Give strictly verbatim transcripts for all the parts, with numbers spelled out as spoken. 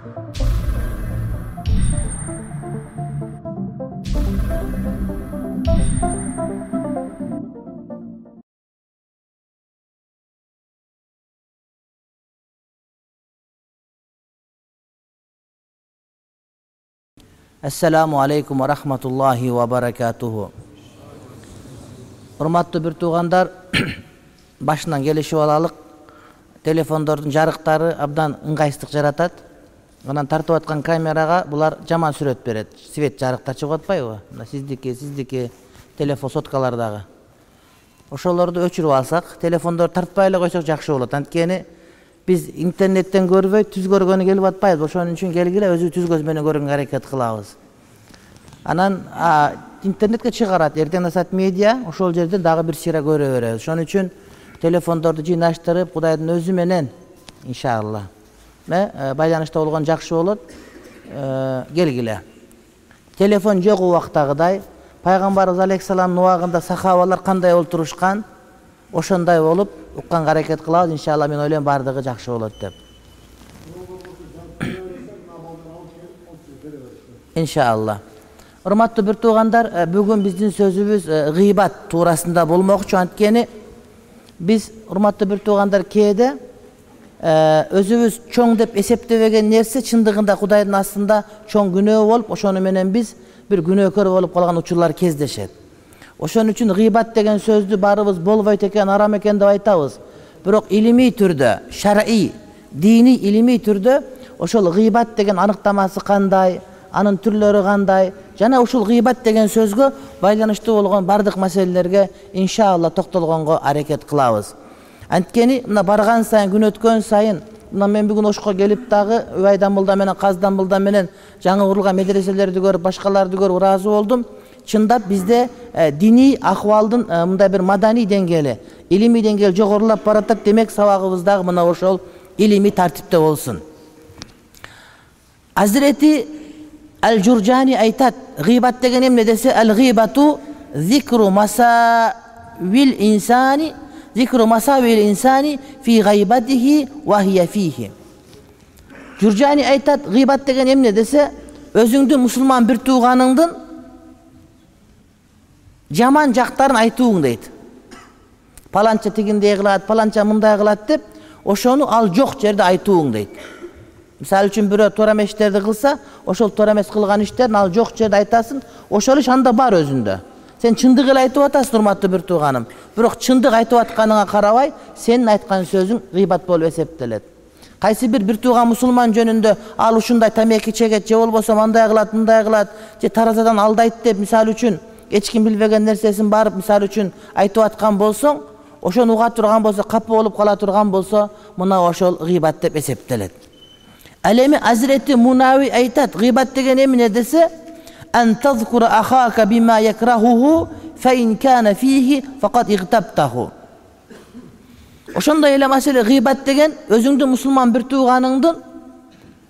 Assalamu alaikum wa rahmatullahi wa barakatuhu. Урматтуу бир туугандар, башынан келишип алалык. Телефондордун жарыктары абдан ыңгайсыздык жаратат. Анан тартып аткан камерага булар жаман сүрөт берет. Свет жарыктар чыгып атпайбы? Мына сиздики, сиздики телефон соткалардагы. Ошолорду өчүрүп алсак, телефондорду тартпай эле койсок жакшы болот. Анткени биз интернеттен көрбөй түз көргөнү келип атпайбыз. Ошон үчүн келгиле өзү түз көз менен көргөнгө аракет кылабыз. Анан интернетке чыгарат, эртең асат медиа, ошол жерде дагы бир сыйра көрө беребиз. Ошон үчүн телефондорду жыйнаштырып, Кудайдын өзү менен иншалла байланышта болгон жакшы болот. Келгиле. Телефон жок убактагыдай, пайгамбарыбыз алейхиссаламдын убагында сахабалар кандай олтурушкан, ошондой болуп укканга аракет кылабыз. Иншалла мен ойлойм бардыгы жакшы болот деп. Иншалла. Урматтуу бир туугандар, бүгүн биздин сөзүбүз гыйбат туурасында болмокчу. Анткени биз, урматтуу бир туугандар, кээде өзүбүз чоң деп эсептебеген нерсе чындыгында Кудайдын астында чоң күнөө болуп, ошону менен биз бир күнөөкөр болуп калган учурлар кездешет. Ошон үчүн гыйбат деген сөздү баарыбыз болбойт экен, арам экен деп айтабыз. Бирок илимий түрдө, шар'ий, диний илимий түрдө ошол гыйбат деген аныктамасы кандай, анын түрлөрү кандай, жана ушул гыйбат деген сөзгө байланыштуу болгон бардык маселелерге иншалла токтолгонго аракет кылабыз. Анткени мына барган сайын, күн өткөн сайын, мына мен бүгүн ошко келип дагы Убайдан мулда менен Каздан мулда менен жаңы курулган медреселерди көрүп, башкаларды көрүп ыраазы болдум. Чындап бизде диний акыбалдын мындай бир маданий деңгээли, илимий деңгээл жогорулап баратат. Демек сабагыбыз дагы мына ошол илимий тартипте болсун. Азирети Ал-Журжани айтат, гыйбат деген эмне десе, ал-гыйбату зикру масавил инсани, зикру масавил инсани фи гайбатихи ва хия фихи. Журжани айтат, гыйбат деген эмне десе, өзүңдүн мусулман бир тууганыңдын жаман жактарын айтууң дейт. Паланча тигиндей кылат, паланча мындай кылат деп, ошону ал жок жерде айтууң дейт. Мисалы үчүн бирөө туура эмес иштерди кылса, ошол туура эмес кылган иштерин ал жок жерде айтасың, ошол иш анда бар өзүндө. Сен чындык эле айтып атасың, урматтуу бир тууганым. Бирок чындык айтып атканыңа карабай, сенин айткан сөзүң гыйбат болуп эсептелет. Кайсы бир бир тууган мусулман жөнүндө ал ушундай тамеки чегет, же болбосо мындай кылат, мындай кылат, же таразадан алдайт деп, мисалы үчүн эч ким билбеген нерсесин барып, мисалы үчүн айтып аткан болсоң, ошону уга турган болсо, капы болуп кала турган болсо, мына ошол гыйбат деп эсептелет. Ал эми Азирети Мунави айтат, гыйбат деген эмне десе, ан тазкура ахака бима якрахуху фа ин кана фихи факат игтабтаху. Ошондой эле маселе гыйбат деген өзүңдүн мусулман бир тууганыңдын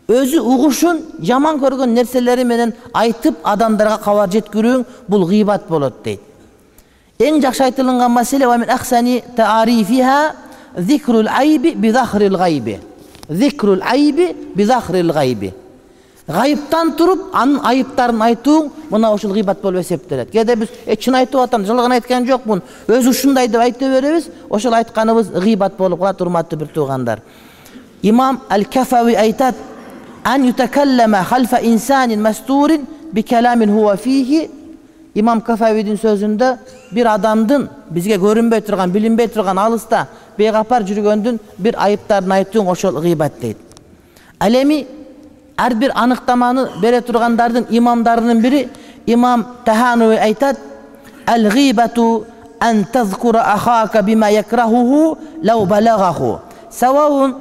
өзү угушун, жаман көргөн нерселери менен айтып адамдарга кабар жеткирүүң, бул гыйбат болот дейт. Эң жакшы айтылган маселе ва мин ахсани таарифиха зикрул айби би захрил гайби. Зикрул айби би захрил гайби. Гайыптан туруп, анын айыптарын айтууң, мына ошол гыйбат болуп эсептелет. Кээде биз чын айтып атам, жалган айткан жокмун, өзү ушундай деп айта беребиз, ошол айтканыбыз гыйбат болуп калат, урматтуу бир туугандар. Имам Ал-Кафави айтат, ан ютакаллама халфа инсанин мастурин би каламин хуа фихи. Имам Кафавидин сөзүндө бир адамдын бизге көрүнбөй турган, билинбей турган, алыста бейгапар жүргөндүн бир айыптарын айтууң, ошол гыйбат дейт. Ал эми ар бир аныктаманы бере тургандардын имамдарынын бири имам Таханови айтат, ал-гыйбату ан тазкура ахака бима якрахуху лау балагаху саваун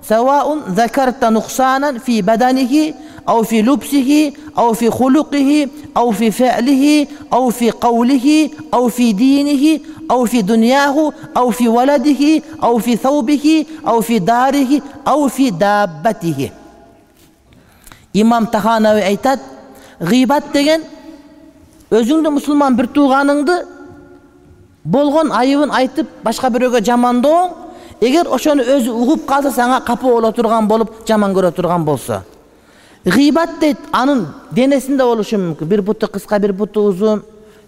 саваун закарта нуксанан фи баданихи أو في لبسه أو في خلقه أو في فعله أو في قوله أو في دينه أو في دنياه أو في ولده أو في ثوبه أو في داره أو في دابته. İmam Tahanevi aytat, gıybet degen özüңdү musulman bir tuğanыңды болгон айыбын айтып башка бирөөгө жамандооң, эгер ошону өзү угуп калса сага капы боло турган болуп, жаман көрө турган болсо. Гыйбат дейт, анын денесинде болушу мүмкүн. Бир буту кыска, бир буту узун,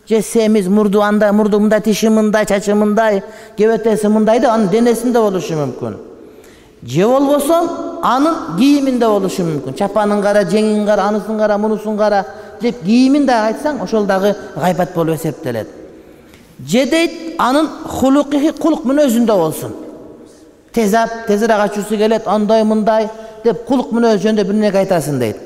же семиз, мурду андай, мурду мындай, тиши мындай, чачы мындай, кебетеси мындай да анын денесинде болушу мүмкүн. Же болбосо анын кийиминде болушу мүмкүн. Чапанын кара, жеңин кара, анысын кара, мунусун кара деп кийимин да айтсаң, ошол дагы гайбат болуп эсептелет. Же дейт, анын хулукы, кулук мүнөзүндө болсун. Тезап, тезирээк ачуусу келет, андай мындай деп кулук мүнөз жөнүндө бир нерсе айтасың дейт.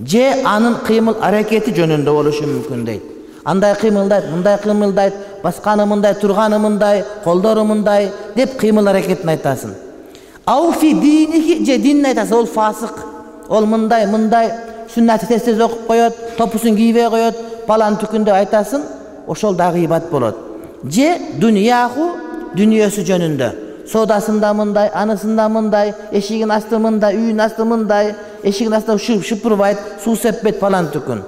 Же анын кыймыл аракети жөнүндө болушу мүмкүн дейт. Андай кыймылдайт, мындай кыймылдайт, басканы мындай, турганы мындай, колдору мындай деп кыймыл аракетин айтасың. Ауфи динихи, же динин айтасың, ол фасык, ол мындай, мындай, сүннаты тез-тез окуп коет, топусун кийбей коет, палан түкүндө айтасың, ошол да гыйбат болот. Же дүнияху, дүнүйөсү жөнүндө. Содасында мындай, анысында мындай, эшигин асты мындай, үйүн асты мындай, эшигин асты шыпырбайт, суу сеппейт палан түкүн.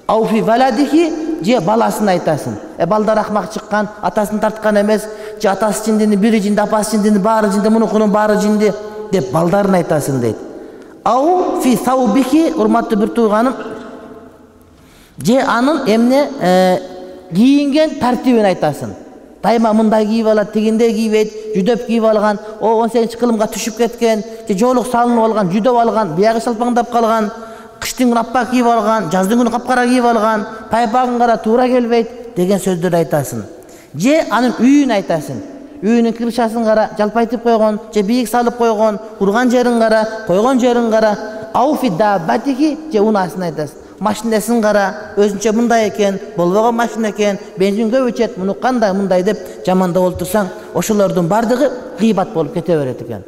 Ауфи валадихи, же баласын айтасың. Э балдар акмак чыккан, атасын тарткан эмес, же атасы жиндини бири жинди, апасы жиндини баары жинди, мунукунун баары жинди деп балдарын айтасың дейт. Ау фи саубихи, урматтуу бир тууганым, же анын эмне кийинген тартибин айтасың. Дайыма мындай кийип алат, тигиндей кийбейт, жүдөп кийип алган, о он сегизинчи кылымга түшүп кеткен, же жоолук салынып алган, жүдөп алган, биягы шалпаңдап калган, кыштын күнү аппак кийип алган, жаздын күнү капкара кийип алган, тайпагын кара туура келбейт деген сөздөрдү айтасың. Же анын үйүн айтасың. Үйүнүн кирпичасын кара, жалпайтып койгон, же бийик салып койгон, урган жерин кара, койгон жерин кара. Ауфи даббатихи, же унаасын айтасың. Машинесин кара, өзүнчө мындай экен, болбогон машина экен, бензин көп ичет, муну кандай мындай деп жамандап олтурсаң, ошолордун бардыгы гыйбат болуп кете берет экен.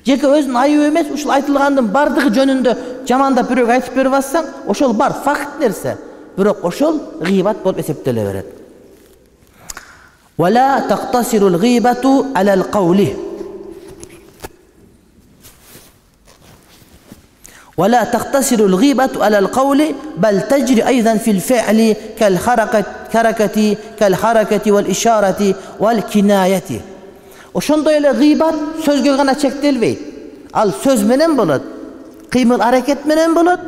Жеке өзүнүн айыбы эмес, ушул айтылгандын бардыгы жөнүндө жамандап бирөөгө айтып берип атсаң, ошол бар факт нерсе, бирок ошол гыйбат болуп эсептеле берет. Вала тактасирул гыйбату алал каули. ولا تقتصر الغيبة على القول بل تجري أيضا في الفعل كالحركة كركة كالحركة والإشارة والكناية. Ошондой эле гыйбат сөзгө гана чектелбейт. Ал сөз менен болот, кыймыл аракет менен болот,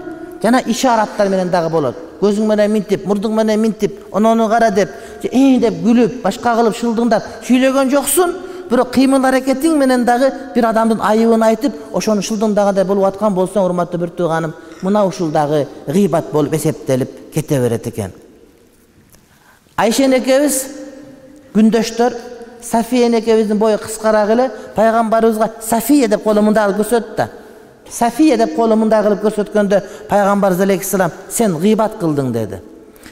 жана ишараттар менен дагы болот. Көзүң менен минтип, мурдуң менен минтип, онону кара деп, эң деп күлүп, башка кылып шылдыңдап сүйлөгөн жоксун. Бирок кыймыл аракетиң менен дагы бир адамдын айыбын айтып, ошону шылдыңдагандай болуп аткан болсоң, урматтуу бир тууганым, мына ушул дагы гыйбат болуп эсептелип кете берет экен. Айша энекебиз күндөштөр, Сафия энекебиздин бою кыскараак эле, пайгамбарыбызга Сафия деп колу мындай кылып көрсөттү да. Сафия деп колу мындай кылып көрсөткөндө пайгамбарыбыз алейхиссалам сен гыйбат кылдың деди.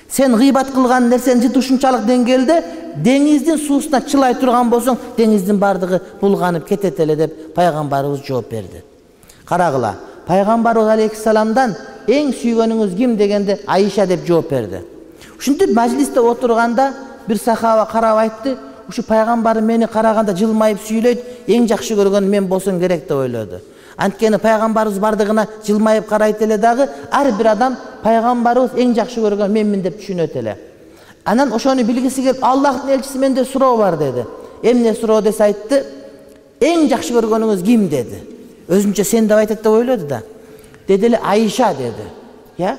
Сен гыйбат кылган нерсени жыт ушунчалык деңгээлде деңиздин суусуна чылай турган болсоң, деңиздин бардыгы булганып кетет эле деп пайгамбарыбыз жооп берди. Карагыла, пайгамбарыбыз алейхиссаламдан эң сүйгөнүңүз ким дегенде Айша деп жооп берди. Ушинтип мажлисте отурганда бир сахаба карап айтты, ушу пайгамбарым мени караганда жылмайып сүйлөйт, эң жакшы көргөнү мен болсом керек деп ойлоду. Анткени пайгамбарыбыз бардыгына жылмайып карайт эле дагы, ар бир адам пайгамбарыбыз эң жакшы көргөн менмин деп түшүнөт эле. Анан ошону билгиси келип, Аллахтын элчиси менде суроо бар деди. Эмне суроо десе айтты, эң жакшы көргөнүңүз ким деди. Өзүнчө сен деп айтат деп ойлоду да. Деди эле Айша деди. Я?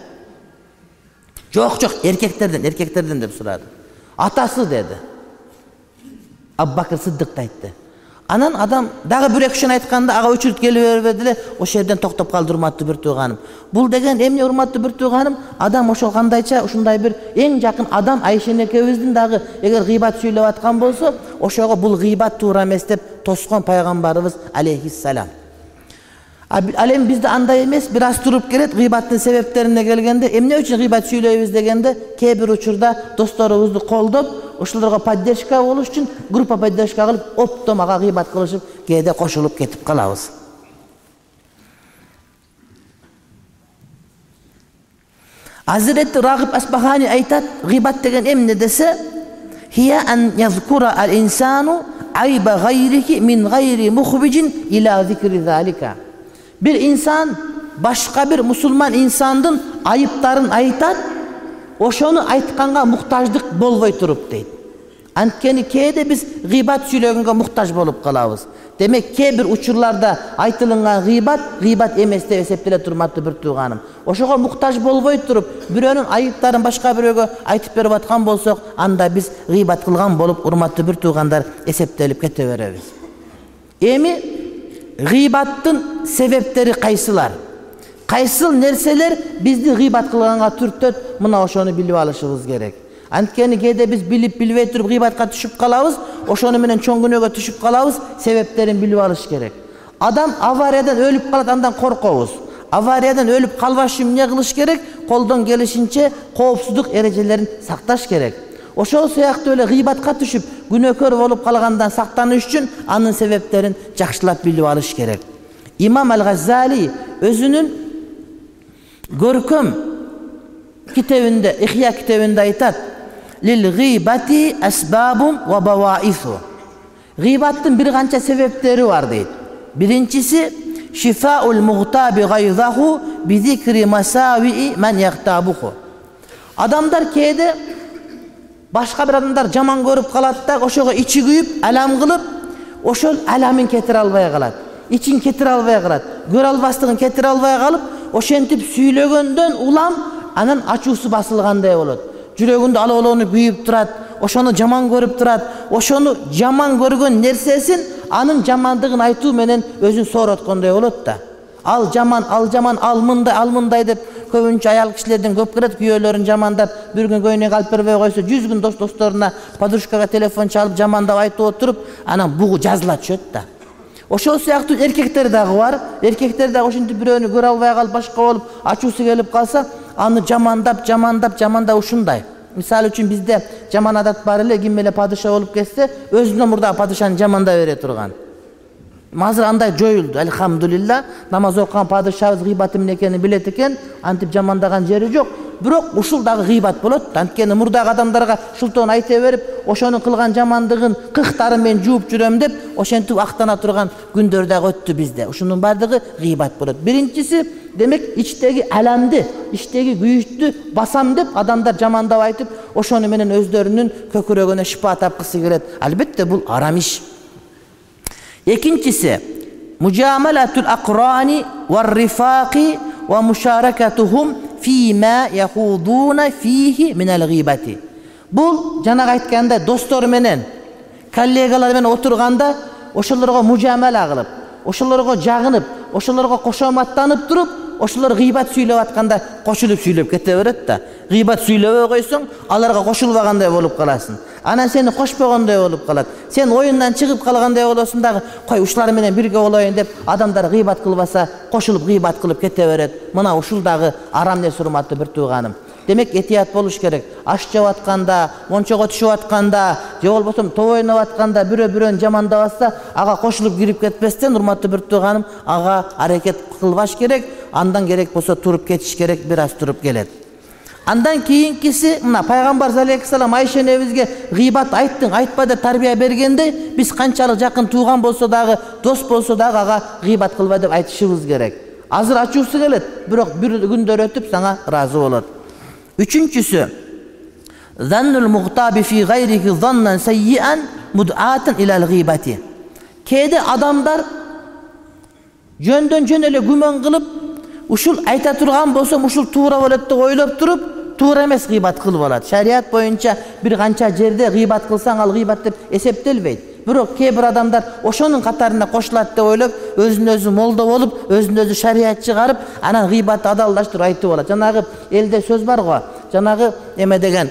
Жок, жок, эркектерден, эркектерден деп сурады. Атасы деди. Аббакыр Сыддык айтты. Анан адам дагы бир экшен айтканда ага өчүрүп келе бербеди эле, ошол жерден токтоп калды урматтуу бир тууганым. Бул деген эмне урматтуу бир тууганым? Адам ошол кандайча ушундай бир эң жакын адам Айша энекебиздин дагы эгер гыйбат сүйлөп аткан болсо, ошого бул гыйбат туура эмес деп тоскон пайгамбарыбыз алейхиссалам. Ал эми бизде андай эмес, бир аз туруп келет гыйбаттын себептерине келгенде, эмне үчүн гыйбат сүйлөйбүз дегенде, кээ бир учурда досторубузду колдоп, ошолорго поддержка болуш үчүн группа поддержка кылып, оптом ага гыйбат кылышып, кээде кошулуп кетип калабыз. Азирети Рагиб Асбахани айтат, гыйбат деген эмне десе, хия ан язкура ал-инсану айба гайрихи мин гайри мухбижин ила зикри залика. Bir insan başka bir musulman insandın ayıpların aytat, oşonu aytkanга muhtaçlık bolbay turup deydi. Анткени кээде биз гыйбат сүйлөгөнгө муктаж болуп калабыз. Демек кээ бир учурларда айтылган гыйбат гыйбат эмес деп эсептеле турматтуу бир тууганым. Ошого муктаж болбой туруп, бирөөнүн айыптарын башка бирөөгө айтып берип аткан болсок, анда биз гыйбат кылган болуп, урматтуу бир туугандар, эсептелип кете беребиз. Эми гыйбаттын себептери кайсылар? Кайсыл нерселер бизди гыйбат кылганга түртөт? Мына ошону билип алышыбыз керек. Анткени кээде биз билип билбей туруп гыйбатка түшүп калабыз, ошону менен чоң күнөөгө түшүп калабыз, себептерин билип алыш керек. Адам авариядан өлүп калат, андан коркобуз. Авариядан өлүп калбаш үчүн эмне кылыш керек? Колдон келишинче коопсуздук эрежелерин сакташ керек. Ошол сыяктуу эле гыйбатка түшүп, күнөөкөр болуп калгандан сактаныш үчүн анын себептерин жакшылап билип алыш керек. Имам Ал-Газзали өзүнүн көркөм китебинде, Ихя китебинде айтат: Лил гыйбати асбабун ва баваису. Гыйбаттын бир канча себептери бар дейт. Биринчиси шифаул мугтаби гайзаху би зикри масави ман яхтабуху. Адамдар кээде башка бир адамдар жаман көрүп калат да, ошого ичи күйүп, алам кылып, ошол аламын кетире албай калат. Ичин кетире албай калат. Көрө албастыгын кетире албай калып, ошентип сүйлөгөндөн улам анан ачуусу басылгандай болот. Жүрөгүндө алоолонуп күйүп турат, ошону жаман көрүп турат, ошону жаман көргөн нерсесин анын жамандыгын айтуу менен өзүн соороткондой болот да. Ал жаман, ал жаман, ал мындай, ал мындай деп көбүнчө аял кишилерден көп келет, күйөөлөрүн жамандап, бир күн көйнөк алып бербей койсо, жүз күн дос досторуна, подружкага телефон чалып жамандап айтып отуруп, анан бугу жазыла түшөт да. Ошол сыяктуу эркектер дагы бар. Эркектер дагы ошентип бирөөнү көрө албай калып, башка болуп, ачуусу келип калса, аны жамандап, жамандап, жамандап ушундай. Мисалы үчүн бизде жаман адат бар эле, ким эле падыша болуп кетсе, өзүнөн мурда падышаны жамандап бере турган. Азыр андай жоюлду, алхамдулилла. Намаз окуган падышабыз гыйбаты эмне экенин билет экен, антип жамандаган жери жок. Бирок ушул дагы гыйбат болот. Анткени мурдагы адамдарга шултон айта берип, ошонун кылган жамандыгын кыктарын мен жууп жүрөм деп, ошентип актана турган күндөр дагы өттү бизде. Ушунун бардыгы гыйбат болот. Биринчиси, демек, ичтеги аламды, ичтеги күйүктү басам деп адамдар жамандап айтып, ошону менен өздөрүнүн көкүрөгүнө шифа тапкысы келет. Албетте бул арам иш. Экинчиси, мужамалатул акрани вар рифaqi ва мушаракатухум фима яхудуна фихи минал гыйбати. Бул жанагы айткандай достор менен, коллегалар менен отурганда ошолорго мужамала кылып, ошолорго жагынып, ошолорго кошоматтанып туруп, ошолор гыйбат сүйлөп атканда кошулуп сүйлөп кете берет да. Гыйбат сүйлөбөй койсоң, аларга кошулбагандай болуп каласың. Анан сени кошпогондой болуп калат. Сен оюндан чыгып калгандай болосуң дагы, кой ушулар менен бирге болоюн деп адамдар гыйбат кылбаса, кошулуп гыйбат кылып кете берет. Мына ушул дагы арам нерсе, урматтуу бир тууганым. Демек, этият болуш керек. Аш жеп атканда, мончого түшүп атканда, же болбосо топ ойноп атканда бирөө бирөөнү жамандап атса, ага кошулуп кирип кетпестен, урматтуу бир тууганым, ага аракет кылбаш керек. Андан керек болсо туруп кетиш керек, бир аз туруп келет. Андан кийинкиси, мына пайгамбар алейхиссалам Айша энебизге гыйбат айттың, айтпа деп тарбия бергенде, биз канчалык жакын тууган болсо дагы, дос болсо дагы ага гыйбат кылба деп айтышыбыз керек. Азыр ачуусу келет, бирок бир күндөр өтүп сага ыраазы болот. Үчүнчүсү, заннул мугтаби фи гайрихи заннан саййан муд'атан илал гыйбати. Кээде адамдар жөндөн жөн эле күмөн кылып, ушул айта турган болсом, ушул туура болот деп ойлоп туруп, туура эмес гыйбат кылып алат. Шарият боюнча бир канча жерде гыйбат кылсаң, ал гыйбат деп эсептелбейт. Бирок кээ бир адамдар ошонун катарына кошулат деп ойлоп, өзүн өзү молдо болуп, өзүн өзү шарият чыгарып, анан гыйбатты адалдаштырып айтып алат. Жанагы элде сөз бар го, жанагы эме деген,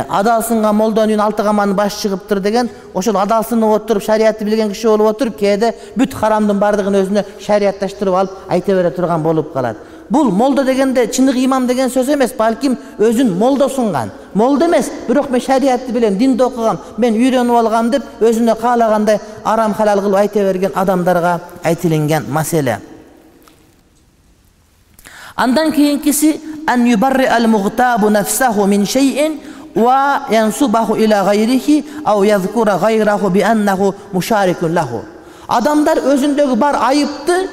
адалсынган молдонун үйүнөн алты каманын башы чыгыптыр деген, ошол адалсынып отуруп, шариятты билген киши болуп отуруп, кээде бүт харамдын бардыгын өзүнө шариатташтырып алып айта бере турган болуп калат. Бул молдо дегенде чынык имам деген сөз эмес, балким өзүн молдосунган. Молдо эмес, бирок мен шариятты билем, динди окугам, мен үйрөнүп алгам деп өзүнө каалагандай арам халал кылып айта берген адамдарга айтылган маселе. Андан кийинкиси ан юбарри ал-мугтабу нафсаху мин шей'ин ва янсубаху ила гайрихи ау язкура гайраху би аннаху мушарикун лаху. Адамдар өзүндөгү бар айыпты,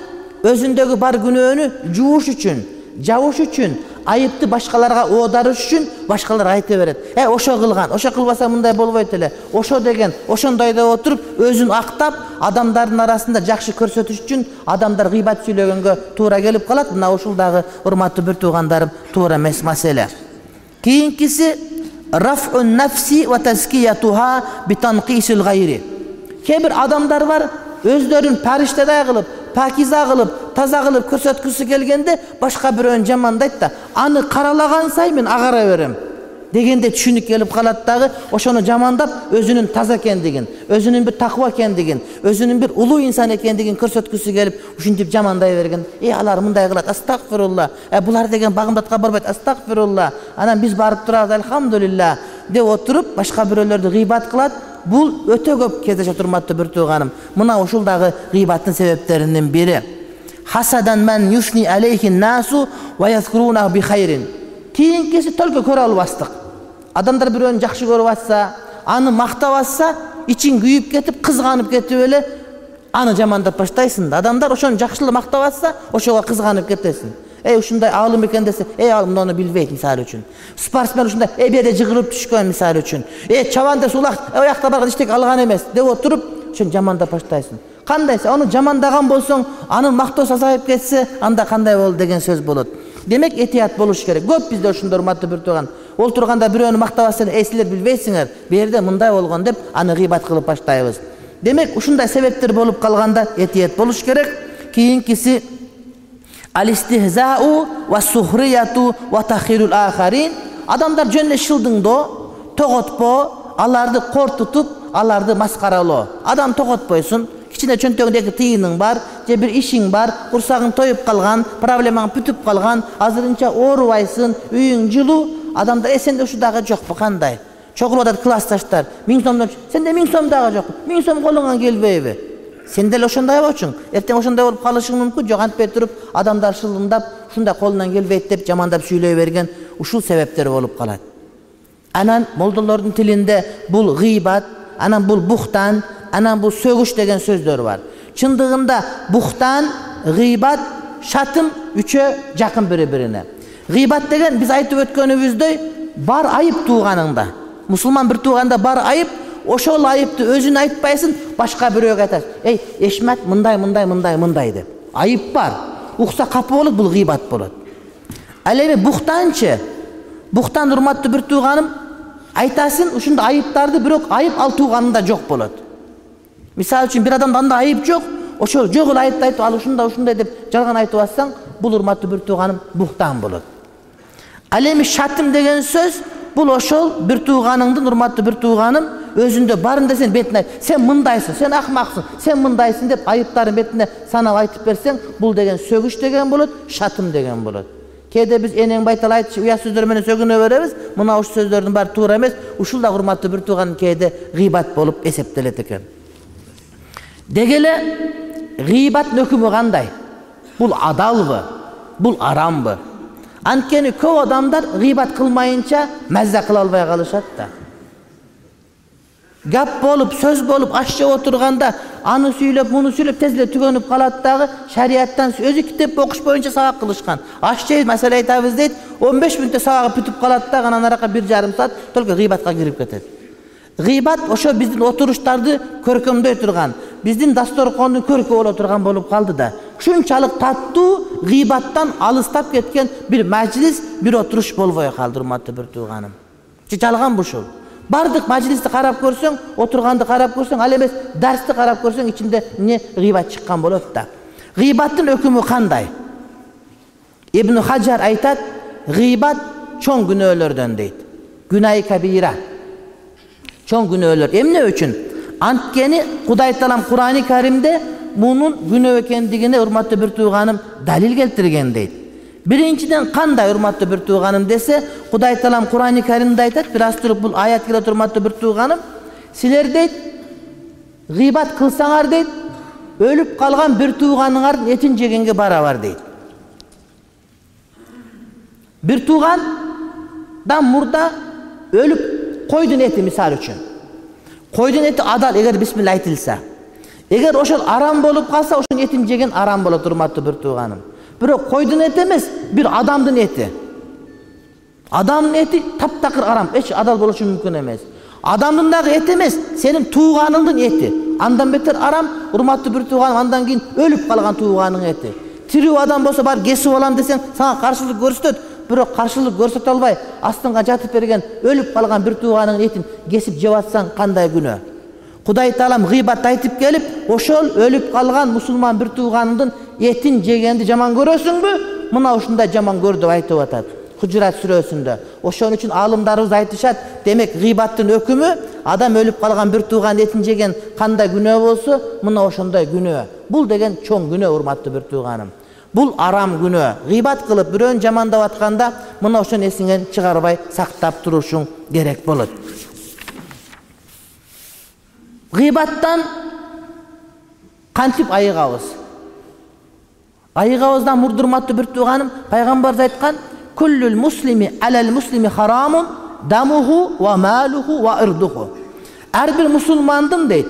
өзүндөгү бар күнөөнү жууш үчүн, жабыш үчүн айыпты башкаларга оодарыш үчүн башкалар айта берет. Э, ошо кылган, ошо кылбаса мындай болбойт эле. Ошо деген, ошондой деп отуруп, өзүн актап, адамдардын арасында жакшы көрсөтүш үчүн адамдар гыйбат сүйлөгөнгө туура келип калат. Мына ушул дагы урматтуу бир туугандарым туура эмес маселе. Кийинкиси раф'ун нафси ва тазкиятуха би танкисил гайри. Кээ бир адамдар бар, өздөрүн париштадай кылып, пакиза кылып, таза кылып көрсөткүсү келгенде башка бирөөнү жамандайт да, аны каралаган сайын мен агара берем дегенде түшүнүк келип калат дагы, ошону жамандап өзүнүн таза экендигин, өзүнүн бир таква экендигин, өзүнүн бир улуу инсан экендигин көрсөткүсү келип, ушинтип жамандай берген. Э, алар мындай кылат, астагфирулла. Э, булар деген багымдатка барбайт, астагфирулла. Анан биз барып турабыз, альхамдулилла деп отуруп, башка бирөөлөрдү гыйбат кылат. Бул өтө көп кездешет, урматтуу бир тууганым. Мына ушул дагы гыйбаттын себептеринин бири. Хасадан мен юшни алейхин насу ва yazkuruna би хайрин. Кийинкиси только көрө албастык. Адамдар бирөөнү жакшы көрүп атса, аны мактап атса, ичин күйүп кетип, кызганып кетип эле аны жамандап баштайсың да. Адамдар ошону жакшылап мактап атса, ошого кызганып кетесиң. Эй, ушундай аалым экен десе, эй, ал муну билбейт мисалы үчүн. Спортсмен ушундай, эй, беде жыгырып түшкөн мисалы үчүн. Эй, чабан десе улак, оякта барган иштек алган эмес деп отуруп, ошону жамандап баштайсың. Кандайсы, аны жамандаган болсоң, анын мактоосу азайып кетсе, анда кандай болду деген сөз болот. Демек, этият болуш керек. Көп бизде ошондой урматтуу бир тууган. Ол турганда бирөөнү мактап атсаң, эй, силер билбейсиңер, бу жерде мындай болгон деп аны гыйбат кылып баштайбыз. Демек, ушундай себептер болуп калганда этият болуш керек. Кийинкиси алистихзау ва сухрияту ва тахирул ахарин. Адамдар жөн эле шылдыңдоо, тоготпо, аларды кортутуп, аларды маскаралоо. Адам тоготпойсун. Кичине чөнтөгүндө эки тыйының бар, же бир ишиң бар, курсагың тоюп калган, проблемаң бүтүп калган, азырынча оорубайсың, үйүң жылуу, адамдар эсенде ушу дагы жокпу кандай? Чогулуп атат классташтар. миң сомдон, сенде миң сом дагы жокпу. миң сом колуңан келбейби? Сен деле ошондой болчуң. Эртең ошондой болуп калышың мүмкүн. Жок, антпай туруп, адамдар шылымдап, ушундай колунан келбейт деп жамандап сүйлөй берген ушул себептер болуп калат. Анан молдолордун тилинде бул гыйбат, анан бул бухтан, анан бул сөгүш деген сөздөр бар. Чындыгында бухтан, гыйбат, шатым үчөө жакын бири-бирине. Гыйбат деген биз айтып өткөнүбүздөй бар айып тууганыңда. Мусулман бир тууганда бар айып, ошол айыпты өзүн айтпайсың, башка бирөөгө айтасың. Эй, Эшмат мындай, мындай, мындай, мындай деп. Айып бар. Укса капы болот, бул гыйбат болот. Ал эми бухтанчы, бухтан урматтуу бир тууганым, айтасың ушундай айыптарды, бирок айып ал тууганында жок болот. Мисалы үчүн бир адамда анда айып жок, ошол жок эле айыпты айтып, ал ушундай ушундай деп жалган айтып атсаң, бул урматтуу бир тууганым бухтан болот. Ал эми шатым деген сөз, бул ошол бир тууганыңдын, урматтуу бир тууганым, өзүндө барын десең бетине айт. Сен мындайсың, сен акмаксың, сен мындайсың деп айыптарын бетине санап айтып берсең, бул деген сөгүш деген болот, шатым деген болот. Кээде биз энең байтал айтчу, уя сөздөр менен сөгүнө беребиз. Мына ушул сөздөрдүн баары туура эмес. Ушул да урматтуу бир тууган кээде гыйбат болуп эсептелет экен. Деги эле гыйбаттын өкүмү кандай? Бул адалбы? Бул арамбы? Анткени көп адамдар гыйбат кылмайынча маза кыла албай калышат да. Гап болуп, сөз болуп, аш жеп отурганда аны сүйлөп, муну сүйлөп тез эле түгөнүп калат дагы. Шарияттан өзү китеп окуш боюнча сабак кылышкан. Аш жейт, маселе айтабыз дейт, он беш мүнөттө сабагы бүтүп калат да, анан арака бир жарым саат только гыйбатка кирип кетет. Гыйбат ошо биздин отуруштарды көркөмдөй турган, биздин дасторкондун көркү боло турган болуп калды да. Ушунчалык таттуу гыйбаттан алыстап кеткен бир мажлис, бир отуруш болбой калды, урматтуу бир тууганым. Жалган ушул. Бардык мажлисти карап көрсөң, отурганды карап көрсөң, ал эмес дарсти карап көрсөң, ичинде эмне гыйбат чыккан болот да. Гыйбаттын өкүмү кандай? Ибн Хаджар айтат, гыйбат чоң күнөөлөрдөн дейт. Күнай кабира. Чоң күнөөлөр. Эмне үчүн? Анткени Кудай Таалам Кур'ани Каримде мунун күнөө экендигине, урматтуу бир тууганым, далил келтирген дейт. Биринчиден кандай, урматтуу бир тууганым десе, Кудай Таалам Кур'ани Каримде айтат, бир астырып бул аят келет, урматтуу бир тууганым, силер дейт, гыйбат кылсаңар дейт, өлүп калган бир тууганыңардын этин жегенге барабар дейт. Бир туугандан мурда өлүп койдун эти мисалы үчүн. Койдун эти адал, эгер бисмилла айтылса. Эгер ошол арам болуп калса, ошонун этин жеген арам болот, урматтуу бир тууганым. Бирок койдун эти эмес, бир адамдын эти. Адамдын эти таптакыр арам, эч адал болушу мүмкүн эмес. Адамдын дагы эти эмес, сенин тууганыңдын эти. Андан бетер арам, урматтуу бир тууганым, андан кийин өлүп калган тууганыңдын эти. Тирүү адам болсо бар кесип алам десең, сага каршылык көрсөтөт, бирок каршылык көрсөтө албай, астыңга жатып берген, өлүп калган бир тууганыңдын этин кесип жеп атсаң кандай күнөө? Кудай Таалам гыйбат айтып келип, ошол өлүп калган мусулман бир тууганыңдын этин жегенди жаман көрөсүңбү? Мына ушундай жаман көр деп айтып атат. Худжурат сүрөсүндө. Ошон үчүн алымдарыбыз айтышат, демек гыйбаттын өкүмү адам өлүп калган бир тууган этин жеген кандай күнөө болсо, мына ошондой күнөө. Бул деген чоң күнөө, урматтуу бир тууганым. Бул арам күнөө. Гыйбат кылып бирөөнү жамандап атканда, мына ошону эсиңен чыгарбай сактап турушуң керек болот. Гыйбаттан кантип айыгабыз? Айыгабыздан мурдурматтуу бир тууганым, пайгамбарыбыз айткан: "Куллул муслими алал муслими харамун дамуху ва малуху ва ирдуху." Ар бир мусулмандын дейт,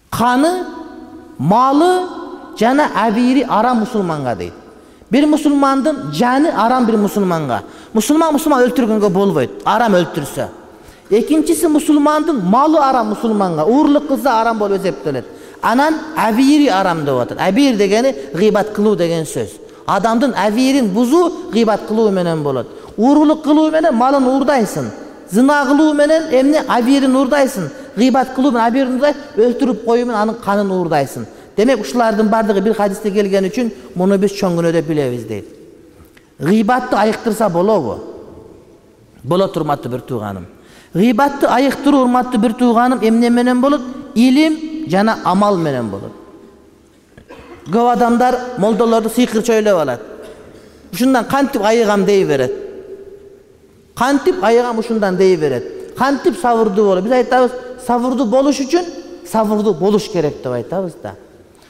каны, малы жана абири арам мусулманга дейт. Бир мусулмандын жаны арам бир мусулманга. Мусулман мусулман өлтүргөнгө болбойт, арам өлтүрсө. Экинчиси мусулмандын малы арам мусулманга, уурлук кылса арам болуп эсептелет. Анан абири арам деп атат. Абир дегени гыйбат кылуу деген сөз. Адамдын абирин бузуу гыйбат кылуу менен болот. Уурулук кылуу менен малын уурдайсың. Зына кылуу менен эмне абирин уурдайсың. Гыйбат кылуу менен абирин уурдай, өлтүрүп коюу менен анын канын уурдайсың. Демек ушулардын бардыгы бир хадисте келген үчүн муну биз чоң күнөө деп билебиз дейт. Гыйбатты айыктырса болобу? Болот, урматтуу бир тууганым. Гыйбатты айыктыруу, урматтуу бир тууганым, эмне менен болот? Илим жана амал менен болот. Көп адамдар молдолорду сыйкырчы ойлоп алат. Ушундан кантип айыгам дей берет. Кантип айыгам ушундан дей берет. Кантип сабырдуу болот? Биз айтабыз, сабырдуу болуш үчүн сабырдуу болуш керек деп айтабыз да.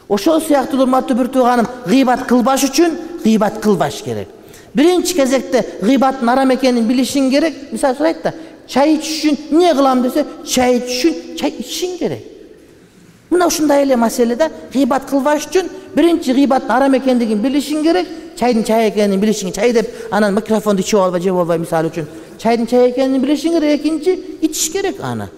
Ошол сыяктуу, урматтуу бир тууганым, гыйбат кылбаш үчүн гыйбат кылбаш керек. Биринчи кезекте гыйбаттын арам экенин билишиң керек. Мисалы сурайт да, чай ич үчүн эмне кылам десе, чай ич үчүн чай ичишиң керек. Мына ушундай эле маселеде гыйбат кылбаш үчүн биринчи гыйбаттын арам экендигин билишиң керек. Чайдын чай экенин билишиң, чай деп анан микрофонду ичип албай, жеп албай, мисалы үчүн чайдын чай экенин билишиң керек. Экинчи ичиш керек аны.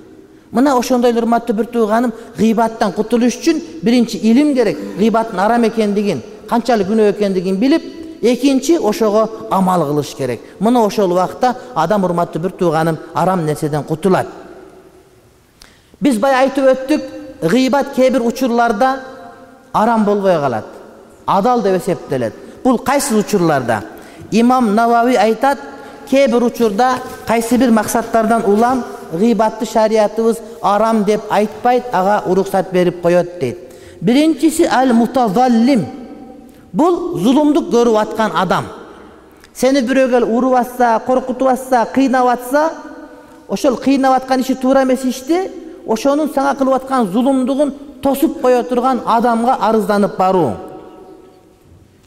Мына ошондой урматтуу бир тууганым, гыйбаттан кутулуш үчүн биринчи илим керек. Гыйбаттын арам экендигин, канчалык күнөө экендигин билип, экинчи ошого амал кылыш керек. Мына ошол убакта адам, урматтуу бир тууганым, арам нерседен кутулат. Биз бай айтып өттүк, гыйбат кээ бир учурларда арам болбой калат, адал деп эсептелет. Бул кайсы учурларда? Имам Навави айтат, кээ бир учурда кайсы бир максаттардан улам гыйбатты шариятыбыз арам деп айтпайт, ага уруксат берип коет дейт. Биринчиси ал-мутазаллим. Бул зулумдук көрүп аткан адам. Сени бирөө кел уруп атса, коркутуп атса, кыйнап атса, ошол кыйнап аткан иши туура эмес ишти, ошонун сага кылып аткан зулумдугун тосуп кое турган адамга арызданып баруу.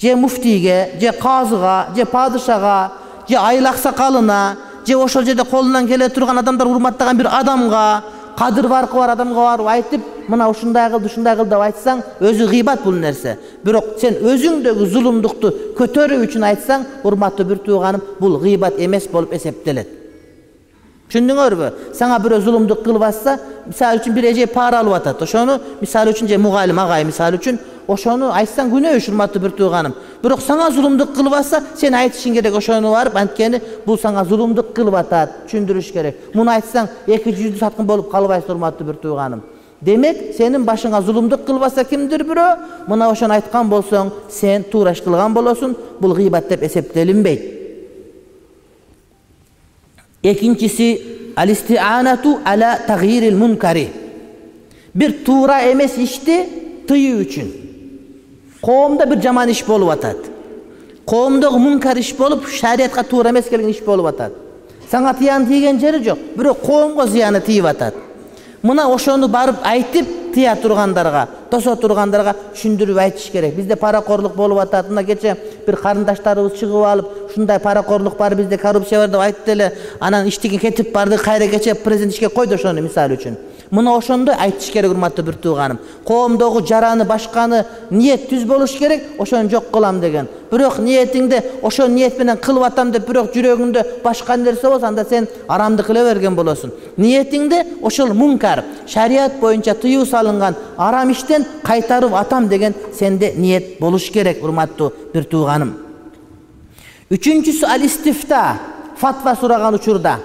Же муфтийге, же казыга, же падышага, же айыл аксакалына, же ошол жерде колунан келе турган адамдар урматтаган бир адамга, кадыр баркы бар адамга барып айтып, мына ушундай кылды, ушундай кылды деп айтсаң, өзү гыйбат бул нерсе. Бирок сен өзүңдөгү зулумдукту көтөрүү үчүн айтсаң, урматтуу бир тууганым, бул гыйбат эмес болуп эсептелет. Түшүндүңөрбү? Сага бирөө зулумдук кылып атса, мисалы үчүн бир эже пара алып атат. Ошону мисалы үчүн же мугалим агай мисалы үчүн ошону айтсаң күнөө үч, урматтуу бир тууганым. Бирок сага зулумдук кылып атса, сен айтышың керек ошону барып, анткени бул сага зулумдук кылып атат, түшүндүрүш керек. Муну айтсаң эки жүздүү саткын болуп калбайсың, урматтуу бир тууганым. Демек, сенин башыңа зулумдук кылып атса кимдир бирөө, мына ошону айткан болсоң, сен туура иш кылган болосуң, бул гыйбат деп эсептелинбейт. Экинчиси ал-исти'анату ала тагйирил мункари. Бир туура эмес ишти тыюу үчүн. Коомдо бир жаман иш болуп атат. Коомдогу мункар иш болуп, шариятка туура эмес келген иш болуп атат. Сага тыян тийген жери жок, бирок коомго зыяны тийип атат. Мына ошону барып айтып, тыя тургандарга, тосо тургандарга түшүндүрүп айтыш керек. Бизде паракорлук болуп атат. Мына кече бир карындаштарыбыз чыгып алып, ушундай паракорлук бар, бизде коррупция бар деп айтты эле. Анан иштеген кетип барды, кайра кече президент ишке койду ошону мисалы үчүн. Мына ошондой айтыш керек урматтуу бир тууганым. Коомдогу жараны башканы ниет түз болуш керек, ошону жок кылам деген. Бирок ниетиңде ошо ниет менен кылып атам деп бирок жүрөгүңдө башка нерсе болсо, анда сен арамды кыла берген болосуң. Ниетиңде ошол мункар, шарият боюнча тыюу салынган арам иштен кайтарып атам деген сенде ниет болуш керек, урматтуу бир тууганым. Үчүнчүсү ал-истифта, фатва сураган учурда,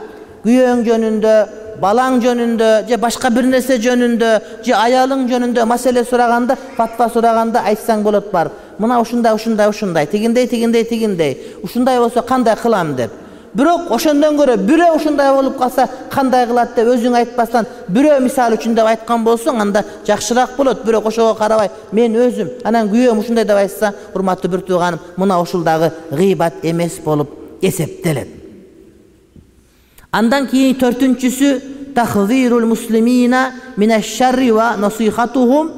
күйөөң жөнүндө, балаң жөнүндө, же башка бир нерсе жөнүндө, же аялың жөнүндө маселе сураганда, фатва сураганда айтсаң болот бар. Мына ушундай, ушундай, ушундай, тигиндей, тигиндей, тигиндей. Ушундай болсо кандай кылам деп. Бирок ошондон көрө бирөө ушундай болуп калса кандай кылат деп өзүң айтпастан, бирөө мисал үчүн деп айткан болсоң, анда жакшыраак болот. Бирок ошого карабай, мен өзүм, анан күйөөм ушундай деп айтса, урматтуу бир тууганым, мына ушул дагы гыйбат эмес болуп эсептелет. Андан кийин төртүнчүсү тахзирул муслимина минаш-шарри ва насихатухум.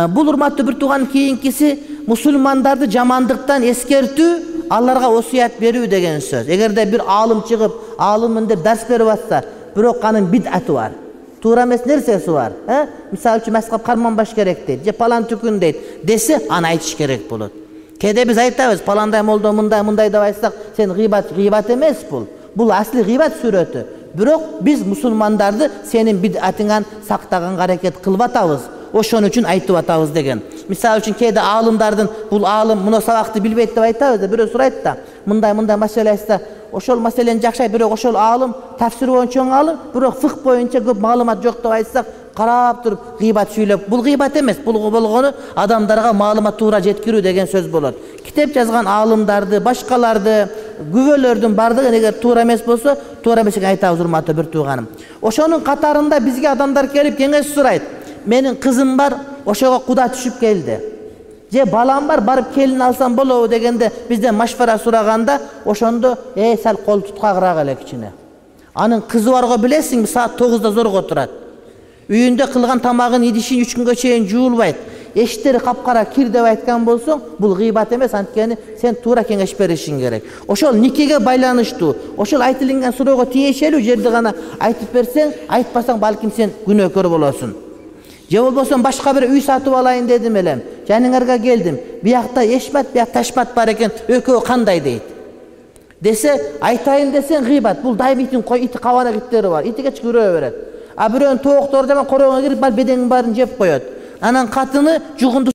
Бул урматтуу бир тууган кийинкиси мусулмандарды жамандыктан эскертүү, аларга осуят берүү деген сөз. Эгерде бир аалым чыгып, аалыммын деп дарс берип атса, бирок анын бидаты бар. Туура эмес нерсеси бар, э? Мисалы үчүн маскап карманбаш керек дейт, же палан түкүн дейт, десе аны айтыш керек болот. Кээде биз айтабыз, паландай молдо мындай, мындай деп айтсак, сен гыйбат, гыйбат эмес бул. Бул асли гыйбат сүрөтү. Бирок биз мусулмандарды сенин бидатыңан сактаганга аракет кылып атабыз. Ошон үчүн айтып атабыз деген. Мисалы үчүн кээде аалымдардын бул аалым муну сабакты билбейт деп айтабыз да, бирөө сурайт да, мындай мындай маселе айтса, ошол маселени жакшай, бирок ошол аалым тафсир боюнча чоң аалым, бирок фык боюнча көп маалымат жок деп айтсак, карап туруп гыйбат сүйлөп, бул гыйбат эмес, бул болгону адамдарга маалымат туура жеткирүү деген сөз болот. Китеп жазган аалымдарды, башкаларды, күбөлөрдүн бардыгы эгер туура эмес болсо, туура эмес экенин айтабыз, урматтуу бир тууганым. Ошонун катарында бизге адамдар келип кеңеш сурайт. Менин кызым бар, ошого куда түшүп келди. Же балам бар, барып келин алсам болобу дегенде бизден машвара сураганда, ошондо э сал кол туткагыраак эле кичине. Анын кызы барго билесиңби, саат тогузда зорго турат. Үйүндө кылган тамагын идишин үч күнгө чейин жуулбайт. Эштери капкара кир деп айткан болсоң, бул гыйбат эмес, анткени сен туура кеңеш беришиң керек. Ошол никеге байланыштуу, ошол айтылган суроого тиешелүү жерди гана айтып берсең, айтпасаң балким сен күнөөкөр болосуң. Же болбосо башка бир үй сатып алайын дедим элем. Жаныңарга келдим. Биякта эшмат, биякта ташмат бар экен. Экөө кандай дейт? Десе, айтайын десең гыйбат. Бул дайбитин кой ити кабана иттери бар. Ити кеч күрөө берет. А бирөөнүн тооктору жаман короого кирип, бар бедеңин баарын жеп коёт. Анан катыны жугунду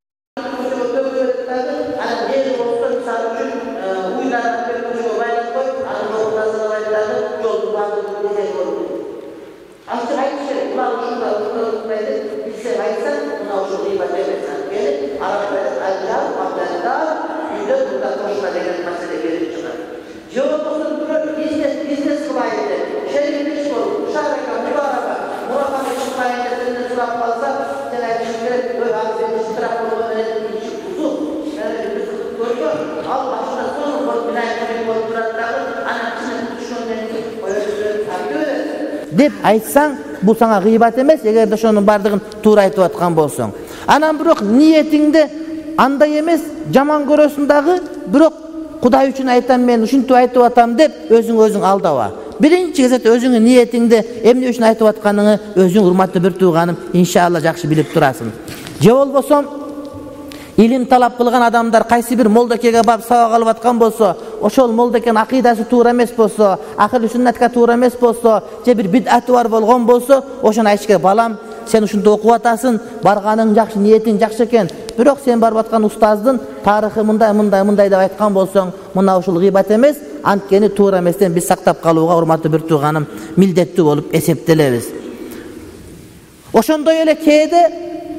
деп айтсаң, бул сага гыйбат эмес, эгерде ошонун бардыгын туура айтып аткан болсоң. Анан бирок ниетиңде андай эмес, жаман көрөсүң дагы, бирок Кудай үчүн айтам, мен ушинтип айтып атам деп өзүң өзүң алдаба. Биринчи кезекте өзүңүн ниетиңде эмне үчүн айтып атканыңы өзүң урматтуу бир тууганым иншалла жакшы билип турасың. Же болбосо илим талап кылган адамдар кайсы бир молдокеге барып сабак алып аткан болсо, ошол молдокенин акыйдасы туура эмес болсо, ахир сүннатка туура эмес болсо, же бир бидаты бар болгон болсо, ошону айтыш керек. Балам, сен ушунда окуп атасың, барганың жакшы, ниетиң жакшы экен. Бирок сен барып аткан устаздын тарыхы мындай, мындай, мындай деп айткан болсоң, мына ушул гыйбат эмес, анткени туура эместен биз сактап калууга урматтуу бир тууганым милдеттүү болуп эсептелебиз. Ошондой эле кээде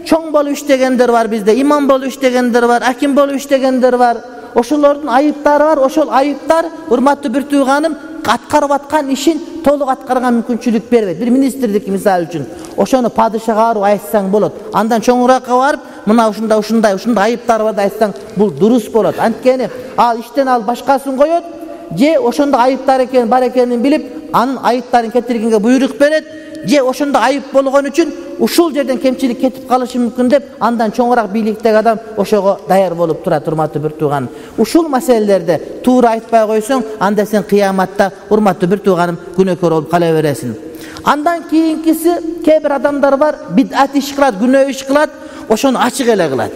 чоң болуп иштегендер бар бизде, имам болуп иштегендер бар, аким болуп иштегендер бар. Ошолордун айыптары бар. Ошол айыптар урматтуу бир тууганым аткарып аткан ишин толук аткарганга мүмкүнчүлүк бербейт. Бир министрдики мисалы үчүн ошону падышага барып айтсаң болот. Андан чоңураакка барып, мына ушундай ушундай ушундай айыптар бар деп айтсаң, бул дурус болот. Анткени ал иштен ал башкасын коёт, же ошондо айыптар экен бар экенин билип, анын айыптарын кетиргенге буйрук берет, же ошондо айып болгон үчүн ушул жерден кемчилик кетип калышы мүмкүн деп, андан чоңураак бийликтеги адам ошого даяр болуп турат, урматтуу бир тууганым. Ушул маселелерде туура айтпай койсоң, анда сен кыяматта урматтуу бир тууганым күнөөкөр болуп кала бересиң. Андан кийинкиси кээ бир адамдар бар, бидат иш кылат, күнөө иш кылат, ошону ачык эле кылат.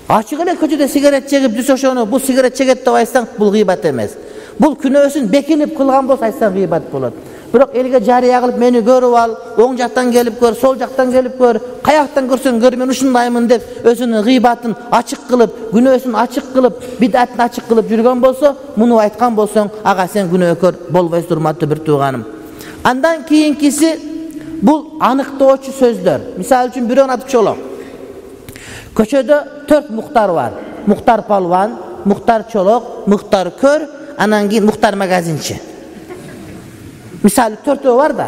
Ачык эле көчөдө сигарет чегип жүрсө ошону бул сигарет чегет деп айтсаң, бул гыйбат эмес. Бул күнөөсүн бекинип кылган болсо айтсаң гыйбат болот. Бирок элге жарыя кылып мени көрүп ал, оң жактан келип көр, сол жактан келип көр, каяктан көрсөң көр, мен ушундаймын деп өзүнүн гыйбатын ачык кылып, күнөөсүн ачык кылып, бидатын ачык кылып жүргөн болсо, муну айткан болсоң, ага сен күнөөкөр болбойсуң, урматтуу бир тууганым. Андан кийинкиси бул аныктоочу сөздөр. Мисалы үчүн бирөөнүн аты Чолок. Көчөдө төрт муктар бар. Муктар Палван, Муктар Чолок, Муктар Көр, анан кийин Муктар Магазинчи. Мисалы төртөө бар да.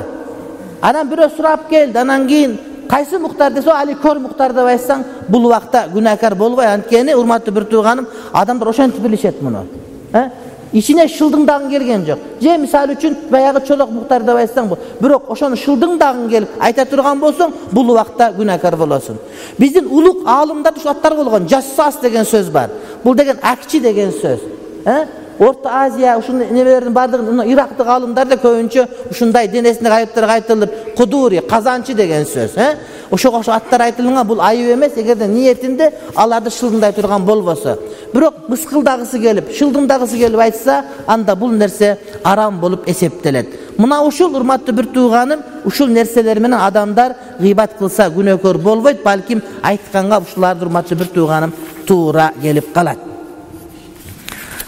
Анан бирөө сурап келди, анан кийин кайсы муктар десе, али көр муктар деп айтсаң, бул убакта күнөөкөр болбой. Анткени урматтуу бир тууганым, адамдар ошентип билишет муну. Э? Ичине шылдыңдагын келген жок. Же мисалы үчүн баягы Чолок муктар деп айтсаң, бирок ошону шылдыңдагын келип айта турган болсоң, бул убакта күнөөкөр болосуң. Биздин улук аалымдарда ушу аттар болгон. Жассас деген сөз бар. Бул деген акчи деген сөз. Э? Орто Азия ушундай небелердин бардыгын Ирактык аалымдар да көбүнчө ушундай денесине кайыптар айтылып, кудури, казанчы деген сөз, э? Ошого ошо аттар айтылган, бул айып эмес, эгерде ниетинде аларды шылдыңдай турган болбосо. Бирок мыскылдагысы келип, шылдыңдагысы келип айтса, анда бул нерсе арам болуп эсептелет. Мына ушул урматтуу бир тууганым, ушул нерселер менен адамдар гыйбат кылса күнөөкөр болбойт, балким айтканга ушуларды урматтуу бир тууганым туура келип калат.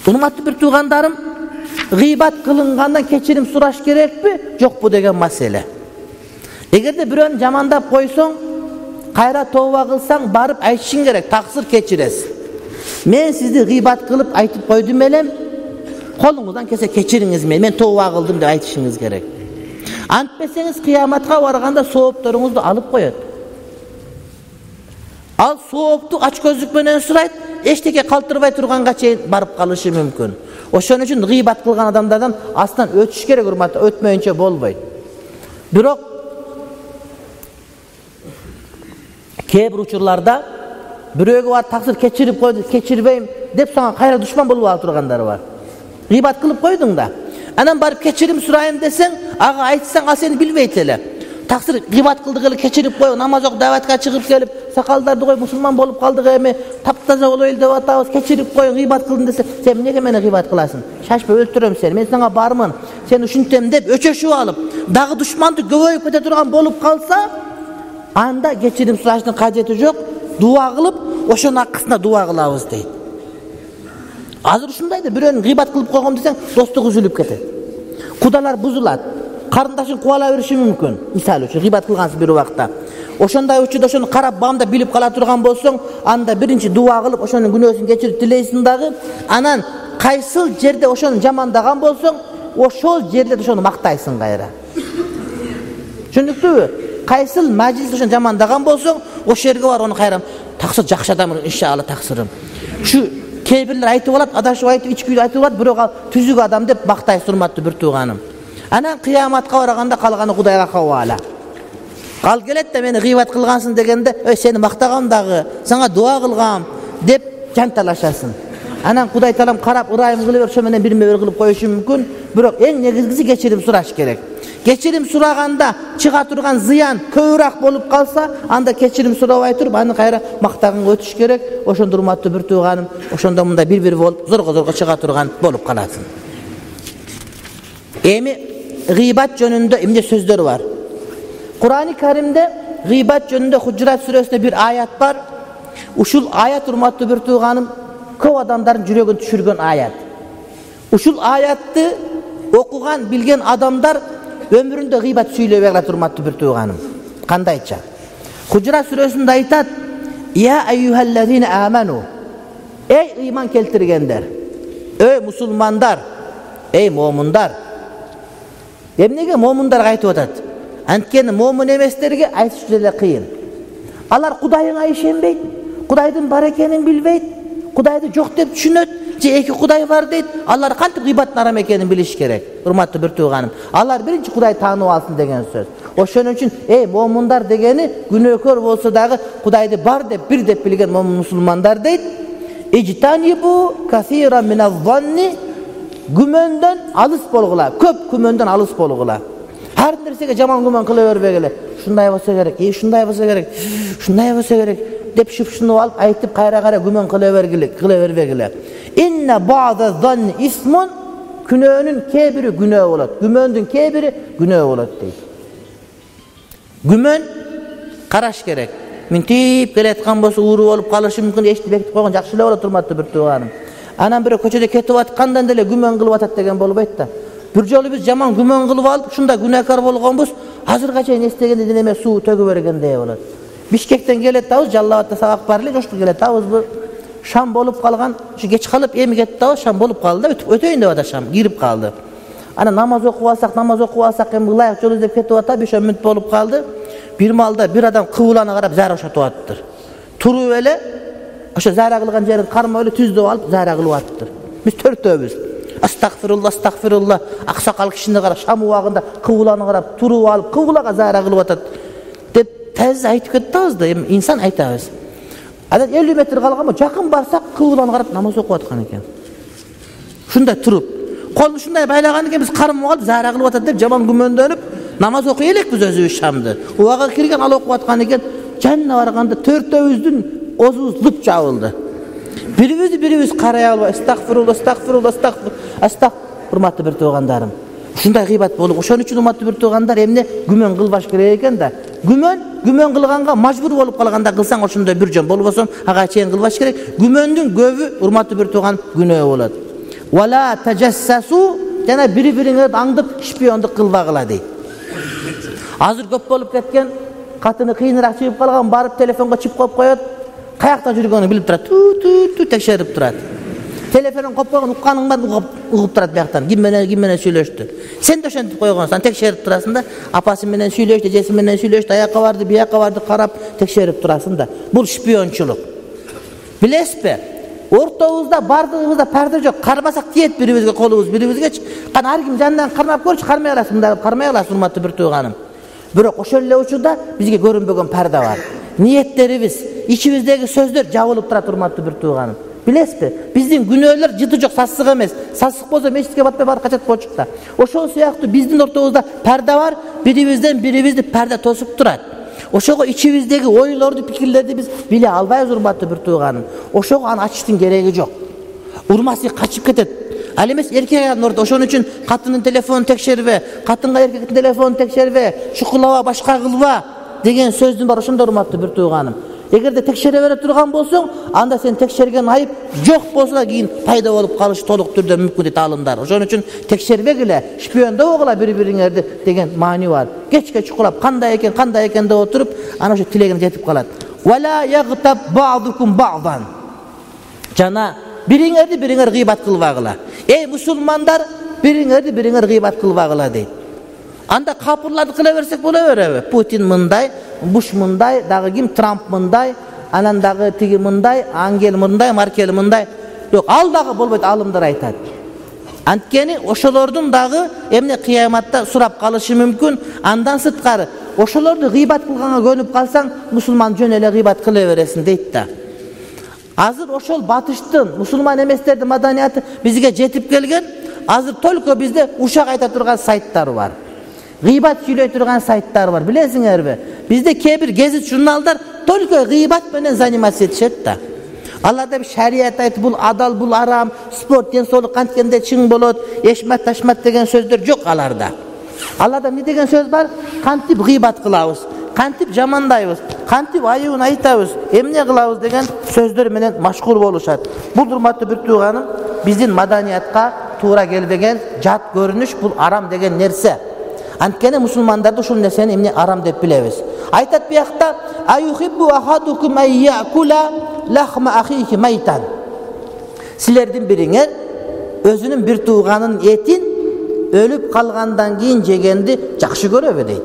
Урматтуу бир туугандарым, гыйбат кылынгандан кечирим сураш керекпи, жокпу деген маселе. Эгерде бирөөнү жамандап койсоң, кайра тооба кылсаң, барып айтышың керек, таксыр кечиресиз. Мен сизди гыйбат кылып айтып койдум элем, колуңуздан келсе кечириңиз мени, мен тооба кылдым деп айтышыңыз керек. Антпесеңиз кыяматка барганда соопторуңузду алып коет. Ал соопту ач көздүк менен сурайт, эчтеке калтырбай турганга чейин барып калышы мүмкүн. Ошон үчүн гыйбат кылган адамдардан астан өтүш керек, урматтуу, өтмөйүнчө болбойт. Бирок кээ бир учурларда бирөөгө бар таксыр кечирип койду, кечирбейм деп сага кайра душман болуп алып тургандар бар. Гыйбат кылып койдуң да. Анан барып кечирим сурайын десең, ага айтсаң, ал сени билбейт эле. Таксыр гыйбат кылдык эле, кечирип кой, намаз окуп даватка чыгып келип, сакалдарды коюп мусулман болуп калдык эми, таптаза болойлу деп атабыз, кечирип кой, гыйбат кылдым десе, сен эмнеге мени гыйбат кыласың? Шашпа, өлтүрөм сени, мен сага бармын, сен ушинтем деп өчөшүп алып, дагы душманды көбөйүп кете турган болуп калса, анда кечирим сураштын кажети жок, дуа кылып, ошонун акысына дуа кылабыз дейт. Азыр ушундай да, бирөөнү гыйбат кылып койгом десең, достук үзүлүп кетет. Кудалар бузулат. Карындашың кубала бериши мүмкүн. Мисалы үчүн гыйбат кылгансыз бир убакта. Ошондой учурда ошону карап бамда билип кала турган болсоң, анда биринчи дуа кылып, ошонун күнөөсүн кечирип тилейсиң дагы, анан кайсыл жерде ошону жамандаган болсоң, ошол жерде ошону мактайсың кайра. Түшүндүктүбү? Кайсыл мажлис ошону жамандаган болсоң, ошол жерге бар, ону кайра таксыр жакшы адам, иншалла таксырым. Şu кээ бирлер айтып алат, адашып айтып, ичкүйдү айтып алат, бирок ал түзүк адам деп мактайсыз, урматтуу бир тууганым. Анан кыяматка барганда калганы Кудайга хавала. Ал келет да мени гыйбат кылгансың дегенде, "Ой, сени мактагам дагы, сага дуа кылгам" деп жанталашасың. Анан Кудай Таалам карап, ырайым кылып берсе, менен бирме-бир кылып коюшу мүмкүн, бирок эң негизгиси кечирим сураш керек. Кечирим сураганда чыга турган зыян көбүрөөк болуп калса, анда кечирим сурабай туруп, аны кайра мактаганга өтүш керек. Ошондо урматтуу бир тууганым, ошондо мында бир-бир болуп, зорго-зорго чыга турган болуп каласың. Эми гыйбат жөнүндө эмне сөздөр бар? Кур'ан-ы Каримде гыйбат жөнүндө Худжурат сүрөсүндө бир аят бар. Ушул аят, урматтуу бир тууганым, көп адамдардын жүрөгүн түшүргөн аят. Ушул аятты окуган, билген адамдар өмүрүндө гыйбат сүйлөбөй калат, урматтуу бир тууганым. Кандайча? Худжурат сүрөсүндө айтат: "Я айюхаллазина аману". Эй ыйман келтиргендер, эй мусулмандар, эй момундар. Эмнеге момундарга айтып атат? Анткени момун эместерге айтыш деле кыйын. Алар Кудайыңа ишенбейт, Кудайдын бар экенин билбейт, Кудайды жок деп түшүнөт, же эки Кудай бар дейт. Алар кантип гыйбаттын арам экенин билиш керек, урматтуу бир тууганым. Алар биринчи Кудай таанып алсын деген сөз. Ошон үчүн эй момундар дегени күнөөкөр болсо дагы Кудайды бар деп, бир деп билген момун мусулмандар дейт. Ижтанибу касира миназ-занни, күмөндөн алыс болгула, көп күмөндөн алыс болгула. Ар нерсеге жаман күмөн кыла бербегиле. Ушундай болсо керек, e ушундай болсо керек, ушундай болсо керек деп шупшунуп алып айтып кайра-кайра күмөн кыла бергиле, кыла бербегиле. Инna ba'da zanni ismun, күнөөнүн кээ бири күнөө болот. Күмөндүн кээ бири күнөө болот дейт. Күмөн караш керек. Минтип келаткан болсо ууру болуп калышы мүмкүн, эшти бекитип койгон жакшы эле болот, урматтуу бир тууганым. Анан бирөө көчөдө кетип аткандан деле күмөн кылып атат деген болбойт да. Бир жолу биз жаман күмөн кылып алып, ушунда күнөөкөр болгонбуз, азырга чейин эстегенде неме суу төгүп бергендей болот. Бишкектен келет дабыз, Жалал Абадта сабак бар эле, жошто келет дабыз. Шам болуп калган, ушу кеч калып эми кетти дабыз, шам болуп калды да, өтүп өтөйүн деп атат, шам кирип калды. Анан намаз окуп алсак, намаз окуп алсак эми ылайык жол издеп кетип атат, беш он мүнөт болуп калды. Бир маалда бир адам кыбылана карап зара бошотуп атыптыр. Туруп эле ошо зара кылган жерин кармап эле түздөп алып зара кылып атыптыр. Биз төртөөбүз. Астагфирулла, астагфирулла. Аксакал кишини карап шам убагында кыбылана карап туруп алып кыблага зара кылып атат деп тез айтып кеттибиз да, эми инсан айтабыз. Анан элүү метр калганбы, жакын барсак кыбланы карап намаз окуп аткан экен. Ушундай туруп, колун ушундай байлаган экен, биз кармап алып зара кылып атат деп жаман күмөндөнүп намаз окуй элекпиз өзүбүз шамды. Убага кирген ал окуп аткан экен. Жанына барганда төртөөбүздүн озубуз лып жабылды. Бирибизди бирибиз карай албай, астагфирулла, астагфирулла, астагфир, астаг. Урматтуу бир туугандарым. Ушундай гыйбат болуп, ошон үчүн урматтуу бир туугандар, эмне күмөн кылбаш керек экен да. Күмөн, күмөн кылганга мажбур болуп калганда кылсаң ошондой бир жөн болбосо ага чейин кылбаш керек. Күмөндүн көбү урматтуу бир тууган күнөө болот. Вала тажассасу, жана бири-бириңерди аңдып шпиондук кылбагыла дейт. Азыр көп болуп кеткен, катыны кыйыныраак чыгып калган, барып телефонго чип коюп коет, каякта жүргөнүн билип турат, ту-ту-ту текшерип турат. Телефонун коюп койгон, укканың бар, угуп турат бияктан. Ким менен, ким менен сүйлөштү. Сен да ошентип койгонсуң, текшерип турасың да, апасы менен сүйлөштү, эжеси менен сүйлөштү, аяка барды, бияка барды карап текшерип турасың да. Бул шпиончулук. Билесизби? Ортобузда бардыгыбызда парда жок, кармасак тиет бирибизге, колубуз бирибизгечи. Кана ар ким жанынан кармап көрчү, кармай аласың, мындай кармай аласың, урматтуу бир тууганым. Бирок ошол эле учурда бизге көрүнбөгөн парда бар. Ниеттерибиз, ичибиздеги сөздөр жабылып турат, урматтуу бир тууганым. Билесизби? Биздин күнөөлөр жыты жок, сасык эмес. Сасык болсо мечитке батпай бар качат болчук да. Ошол сыяктуу биздин ортобузда парда бар, бирибизден бирибизди парда тосуп турат. Ошого ичибиздеги ойлорду, пикирлерди биз биле албайбыз, урматтуу бир тууганым. Ошого аны ачыштын кереги жок. Урмасы качып кетет. Ал эмес эркек аянын ортосунда. Ошон үчүн катынын телефонун текшербе, катынга эркектин телефонун текшербе, шукулаба, башка кылба деген сөздүн бар, ошондо урматтуу бир тууганым. Эгерде текшере бере турган болсоң, анда сен текшерген айып жок болсо да кийин пайда болуп калышы толук түрдө мүмкүн дейт алымдар. Ошон үчүн текшербегиле, шпиондобогула бири-бириңерди деген маани бар. Кечке чукулап кандай экен, кандай экен деп отуруп, ана ошо тилегине жетип калат. Вала ягтаб ба'дукум ба'дан. Жана бириңерди бириңер гыйбат кылбагыла. Эй мусулмандар, бириңерди бириңер гыйбат кылбагыла дейт. Анда капырларды кыла берсек боло береби? Путин мындай, Буш мындай, дагы ким, Трамп мындай, анан дагы тиги мындай, Ангел мындай, Маркел мындай. Жок, ал дагы болбойт, алымдар айтат. Анткени ошолордун дагы эмне кыяматта сурап калышы мүмкүн. Андан сырткары, ошолорду гыйбат кылганга көнүп калсаң, мусулман жөн эле гыйбат кыла бересиң дейт да. Азыр ошол батыштын, мусулман эместердин маданияты бизге жетип келген. Азыр только бизде ушак айта турган сайттар бар. Гыйбат сүйлөй турган сайттар бар, билесиңерби? Бизде кээ бир гезит журналдар только гыйбат менен заниматься этишет да. Аларда бир шарият айтып, бул адал, бул арам, спорт, ден соолук канткенде чың болот, эшмат ташмат деген сөздөр жок аларда. Аларда эмне деген сөз бар? Кантип гыйбат кылабыз, кантип жамандайбыз, кантип айыбын айтабыз, эмне кылабыз деген сөздөр менен машгул болушат. Бул урматтуу бир тууганым, биздин маданиятка туура келбеген жат көрүнүш, бул арам деген нерсе. Анткени мусулмандарды ушул нерсени эмне арам деп билебиз. Айтат биякта: "Аюхиббу ахадукум айякула лахма ахихи майтан." Силердин бириңер өзүнүн бир тууганын этин өлүп калгандан кийин жегенди жакшы көрөбү дейт.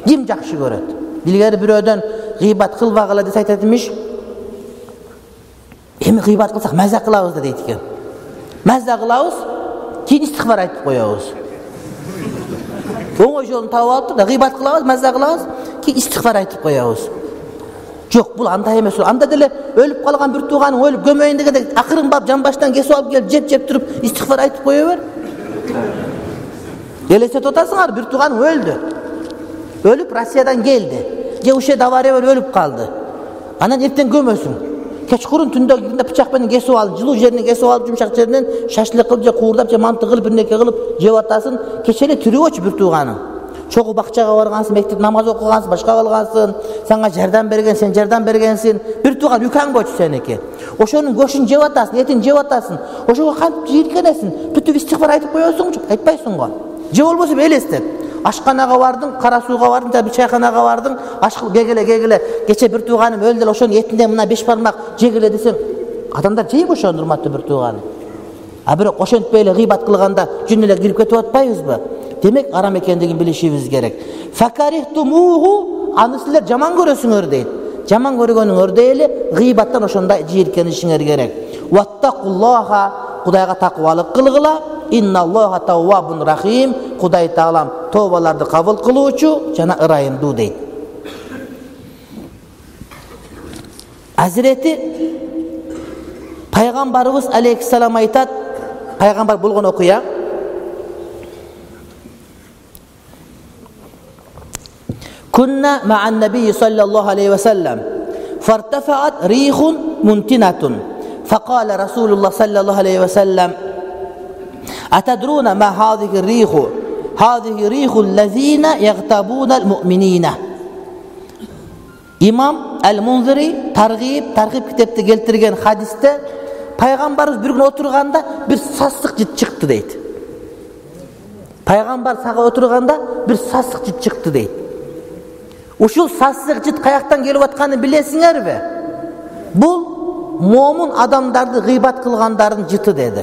Ким жакшы көрөт? Илгери бирөөдөн гыйбат кылбагыла деп айтат эмиш. Эми гыйбат кылсак маза кылабыз да дейт экен. Маза кылабыз, кийин истигфар айтып коебуз. Оңой жолун таап алып да гыйбат кылабыз, маза кылабыз, кийин истигфар айтып коебуз. Жок, бул андай эмес. Анда деле өлүп калган бир тууганың өлүп көмөйүн дегенде акырын барып жан баштан кесип алып келип жеп-жеп туруп истигфар айтып кое бер. Элестетип атасыңар, бир тууганың өлдү. Өлүп Россиядан келди. Же ушe авария болуп өлүп калды. Анан эртең көмөсүң. Кечкурун түндө киргенде бычак менен кесип алып, жылуу жеринен кесип алып, жумшак жеринен шашлык кылып же куурдап же манты кылып бир нерсе кылып жеп атасың. Кече эле тирүүчү бир тууганың. Чогуу бакчага баргансың, мектеп намаз окугансың, башка кылгансың, сага жардам берген, сен жардам бергенсиң. Бир тууган үкаң болчу сеники. Ошонун көшүн жеп атасың, этин жеп атасың. Ошого кантип жийиркенесиң? Бүтүп истигфар айтып коесуңчу, айтпайсыңго. Же болбосо элестет. Ашканага бардың, кара сууга бардың, же бир чайканага бардың, ашкыл кегеле кегеле. Кече бир тууганым өлдү эле, ошонун этинден мына беш бармак жегеле десең, адамдар жейби ошону, урматтуу бир тууганым. А бирок ошентпей эле гыйбат кылганда жүн эле кирип кетип атпайбызбы? Демек арам экендигин билишибиз керек. Факарихтумуху, аны силер жаман көрөсүңөр дейт. Жаман көргөнүңөрдөй эле гыйбаттан ошондой жийиркенишиңер керек. Ваттакуллаха, Кудайга такыбалык кылгыла. Инналлаха таввабун рахим, Кудай Таалам тобаларды кабыл кылуучу жана ырайымдуу дейт. Азирети пайгамбарыбыз алейхиссалам айтат, пайгамбар болгон окуя. Kunna ma'an nabiy sallallahu aleyhi ve sellem fartafa'at rihun muntinatun faqala Rasulullah sallallahu aleyhi ve sellem atadruna ma hadhihi rihu hadhihi rihul ladzina yaghtabuna al-mu'minina. İmam Al-Munziri targib targib kitapta keltirgen hadiste Peygamberimiz bir gün oturganda bir sassık jit çıktı deydi. Peygamber sağa oturganda bir sassık jit çıktı deydi. Ушул сасык жит каяктан келип атканын билесиңерби? Бул момун адамдарды гыйбат кылгандардын жыты деди.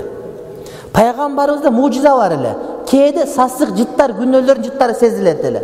Пайгамбарыбызда мужиза бар эле. Кээде сасык жыттар, күнөөлөрдүн жыттары сезилет эле.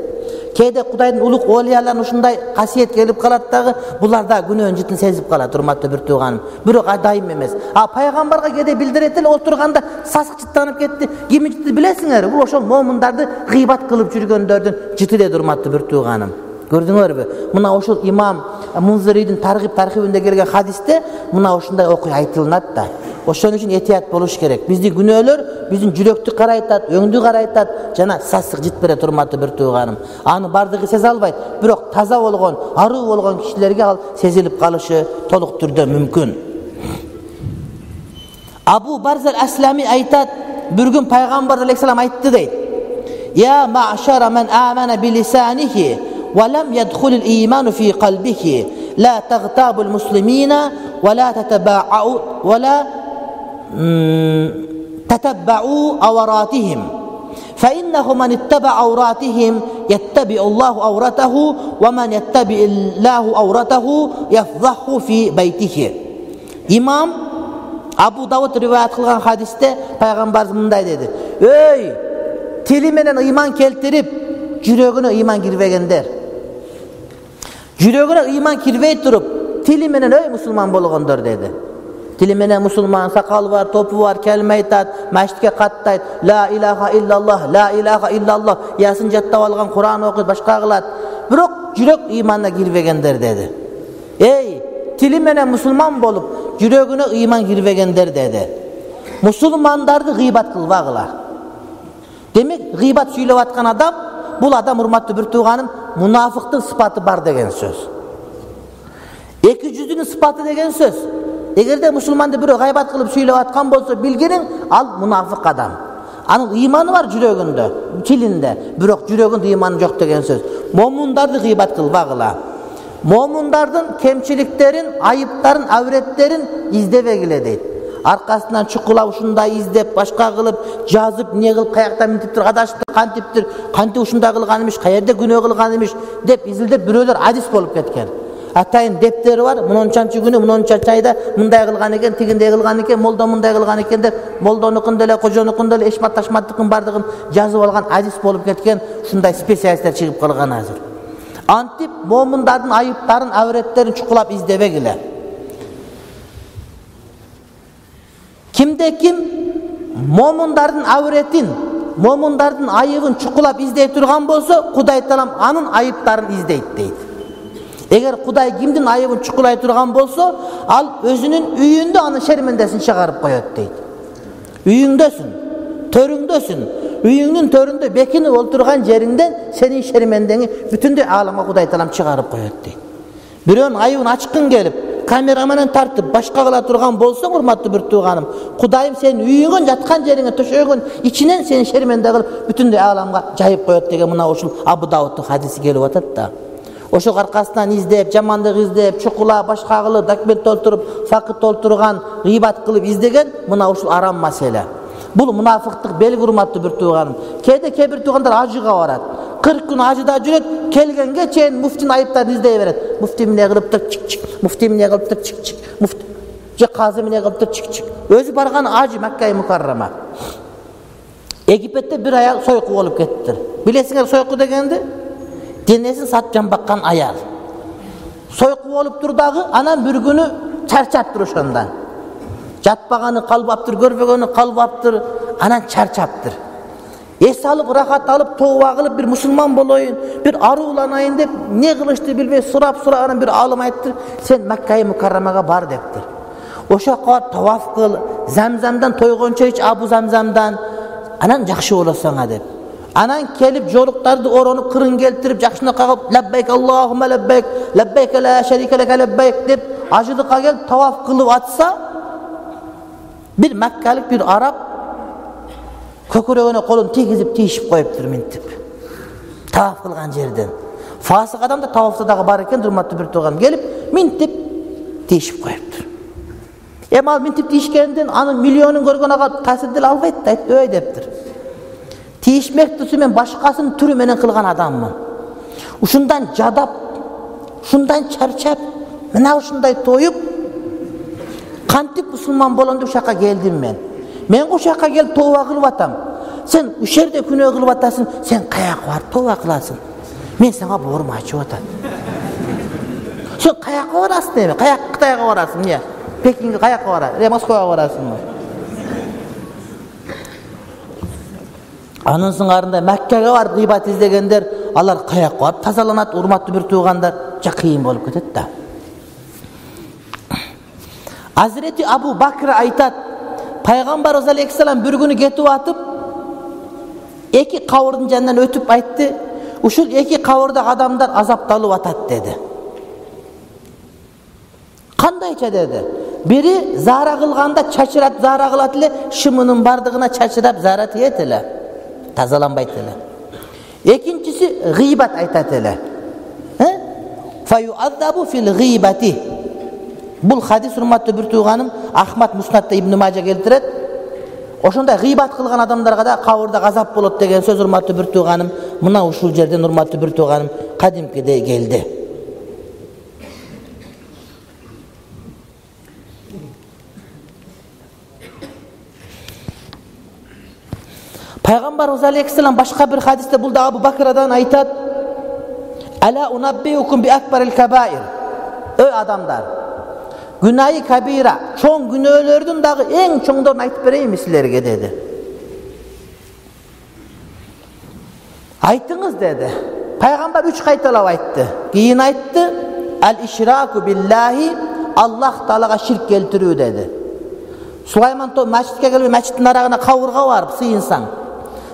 Кээде Кудайдын улук олияларына ушундай касиет келип калат дагы, булар да күнөөнүн жытын сезип калат, урматтуу бир тууганым. Бирок дайым эмес. А пайгамбарга кээде билдирет эле, отурганда сасык жыттанып кетти. Кимдин жыты билесиңерби? Бул ошол момундарды гыйбат кылып жүргөндөрдүн жыты деди, урматтуу бир тууганым. Көрдүңөрбү? Мына ошол имам Мунзиридин таргиб тархибинде келген хадисте мына ушундай окуя айтылат да. Ошон үчүн этият болуш керек. Биздин күнөөлөр биздин жүрөктү карайтат, өңдү карайтат, жана сасык жит берет, урматтуу бир тууганым. Аны бардыгы сезе албайт, бирок таза болгон, аруу болгон кишилерге ал сезилип калышы толук түрдө мүмкүн. Абу Барзал Аслами айтат, бир күн пайгамбар алейхиссалам айтты дейт. Я ма'шара man amana bilisanihi ولم يدخل الإيمان في قلبه لا تغتابوا المسلمين ولا تتبعوا ولا تتبعوا عوراتهم فإنه من اتبع عوراتهم يتبع الله عورته ومن يتبع الله عورته يفضحه في بيته. İmam Abu Davud rivayet kılgan hadiste Peygamberimiz mınday dedi. Ey tili menen iman keltirip жүрөгүнө iman girбегендер. Жүрөгүнө iman kirбей туруп, тили менен ой мусулман болгондор деди. Тили менен мусулман, сакалы бар, топу бар, келме айтат, мачитке каттайт, ла илаха иллаллах, ла илаха иллаллах, ясын жаттап алган, Куран окуйт, башка кылат. Бирок жүрөк иманга кирбегендер деди. Эй, тили менен мусулман болуп, жүрөгүнө iman кирбегендер деди. Мусулмандарды гыйбат кылбагыла. Демек, гыйбат сүйлөп аткан адам, бул адам, урматтуу бир тууганым, мунафыктын сыпаты бар деген сөз. Эки жүздүнүн сыпаты деген сөз. Эгерде мусулманды бирөө гайбат кылып сүйлөп аткан болсо, билгениң ал мунафык адам. Анын ыйманы бар жүрөгүндө, тилинде, бирок жүрөгүндө ыйманы жок деген сөз. Момундарды гыйбат кылбагыла. Момундардын кемчиликтерин, айыптарын, авреттерин издебегиле дейт. Аркасынан чукулап ушундай издеп, башка кылып, жазып, не кылып, каяктан минтиптир, адашыптыр, кантиптир, канти ушундай кылган эмиш, каерде күнөө кылган эмиш деп изилдеп бирөөлөр адис болуп кеткен. Атайын дептери бар, мунунчанчы күнү, мунунчанчы айда мындай кылган экен, тигиндей кылган экен, молдо мындай кылган экен деп, молдонукун деле, кожонукун деле, эшмат ташматтыкын бардыгын жазып алган адис болуп кеткен, ушундай специалисттер чыгып калган азыр. Антип момундардын айыптарын, авреттерин чукулап издебегиле. Кимде ким момундардын авретин, момундардын айыбын чукулап издей турган болсо, Кудай Таалам анын айыптарын издейт дейт. Эгер Кудай кимдин айыбын чукулай турган болсо, ал өзүнүн үйүндө анын шермендесин чыгарып коет дейт. Үйүңдөсүн, төрүңдөсүн, үйүңдүн төрүндө бекинип отурган жериңден сенин шермендеңи бүтүндөй ааламга Кудай Таалам чыгарып коет дейт. Бирөөнүн айыбын ачкың келип, камера менен тартып башка кыла турган болсоң, урматтуу бир тууганым, Кудайым сенин үйүңө, жаткан жериңе, төшөгүн ичинен сени шерменде кылып бүтүндөй ааламга жайып коет деген мына ушул Абу Давудтун хадиси келип атат да. Ошол аркасынан издеп, жамандык издеп, чукула башка кылып, документ толтуруп, факт толтурган, гыйбат кылып издеген мына ушул арам маселе. Бул мунафыктык белги, урматтуу бир тууганым. Кээде кээ бир туугандар ажыга барат. кырк күн ажыда жүрөт, келгенге чейин муфтинин айыптарын издей берет. Муфти эмне кылыптыр, чик-чик. Муфти эмне кылыптыр, чик-чик. Муфти же казы эмне кылыптыр, чик-чик. Өзү барган ажы Макка Мукаррама. Египетте бир аял сойку болуп кеттир. Билесиңер сойку дегенди? Денесин сатып жамбаккан аял. Сойку болуп тур дагы, анан бир күнү чарчаптыр ошондон. Жатпаганы калбаптыр, көрбөгөнү калбаптыр, анан чарчаптыр. Эс алып, рахат алып, тооба кылып, бир мусулман болоюн, бир арууланайын деп, не кылышты билбей сурап-сурап, анан бир алым айттыр, сен Макка Мукаррамага бар дептир. Ошо кат таваф кыл, Замзамдан тойгончо ич, Абу Замзамдан, анан жакшы болосуңа деп. Анан келип жолуктарды оронуп, кырын келтирип, жакшына кагып, лаббайк Аллахумма лаббайк, лаббайк ла шарика лак лаббайк деп, ажылыкка келип таваф кылып атса, bir Makkalik bir Arap көкөрөгөнө колун тийгизип тийишип коюптур минтип. Таваф кылган жерден. Фасык адам да тавафта дагы бар экен, урматтуу бир тууган келип минтип тийишип коюптур. Эми ал минтип тийишкенден анын миллионун көргөн ага таасир деле албайт да, өй дептир. Тийишмек турсу мен башкасын түрү менен кылган адаммын. Ушундан жадап, ушундан чарчап, мына ушундай тоюп кантип мусулман болом деп ушакка келдим мен. Мен ушакка келип тооба кылып атам. Сен уш жерде күнөө кылып атасың, сен каяка барып тооба кыласың. Мен сага боорум ачып атат. Сен каяка барасың эми? Каяк Кытайга барасың, эмне? Пекинге каяка барасың? Москвага барасыңбы? Анын сыңарында Маккага барып гыйбат издегендер, алар каяка барып тазаланат, урматтуу бир туугандар, жа кыйын болуп кетет да. Hazreti Abu Bakr айтат, Пайгамбарыбыз алейхиссалам bir күнү кетип атып, эки кабырдын жанынан өтүп айтты, ушул эки кабырда адамдар азапталып атат деди. Кандайча деди? Бири зара кылганда чачырап зара кылат эле, шымынын бардыгына чачырап зара тиет эле, тазаланбайт эле. Экинчиси гыйбат айтат эле. Фаюазабу фил гыйбати. Бул хадис, урматтуу бир тууганым, Ахмад Муснатта Ибн Мажа келтирет. Ошондой гыйбат кылган адамдарга да кабырда газап болот деген сөз, урматтуу бир тууганым, мына ушул жерден, урматтуу бир тууганым, кадимкиде келди. Пайгамбарыбыз алейхиссалам башка бир хадисте бул да Абу Бакрадан айтат: "Ала унаббиукум би акбарил кабаир". Ой адамдар, Günahı kabira, çoğun günahlardan dağı en çoğundan aytıp vereyim sizlerge dedi. Aytınız dedi. Peygamber üç kaytalap ayttı. Giyin ayttı. El işraku billahi, Allah Teala'ga şirk keltirүү dedi. Sulayman Toy mescitke gelip mescitin arağına kavurga varıp sıyınsan.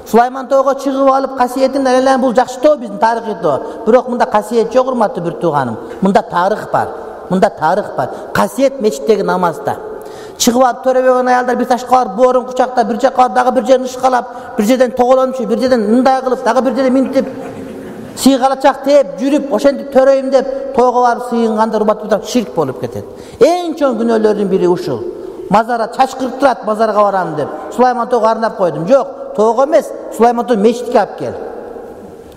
Sulayman Toy'a çıkıp alıp kasiyetini elenen bul jakşı to bizdin tarih to. Bирок munda kasiyet yok, urmatlı bir tuğanım. Munda tarih var. Munda tarih var. Kasiyet meçitteki namazda. Çıkıp alıp törebegen ayallar bir taşka var, boğurun kucakta, bir caka var, dağı bir jerini ışkalap, bir жерден toğulanmış, bir жерден ınday kılıp, dağı bir жерден mintip, sıygalacak deyip, jürüp, oşendik töreyim deyip, toğu var, sıyınganda, rubat budak, şirk bolup ketet. En çoğun günörlerin biri uşul. Mazara çaç kırıktırat, mazarga varam deyip. Sulayman Toğu arnap koydum. Yok, toğu emez, Sulayman Toğu meçitke ap gel.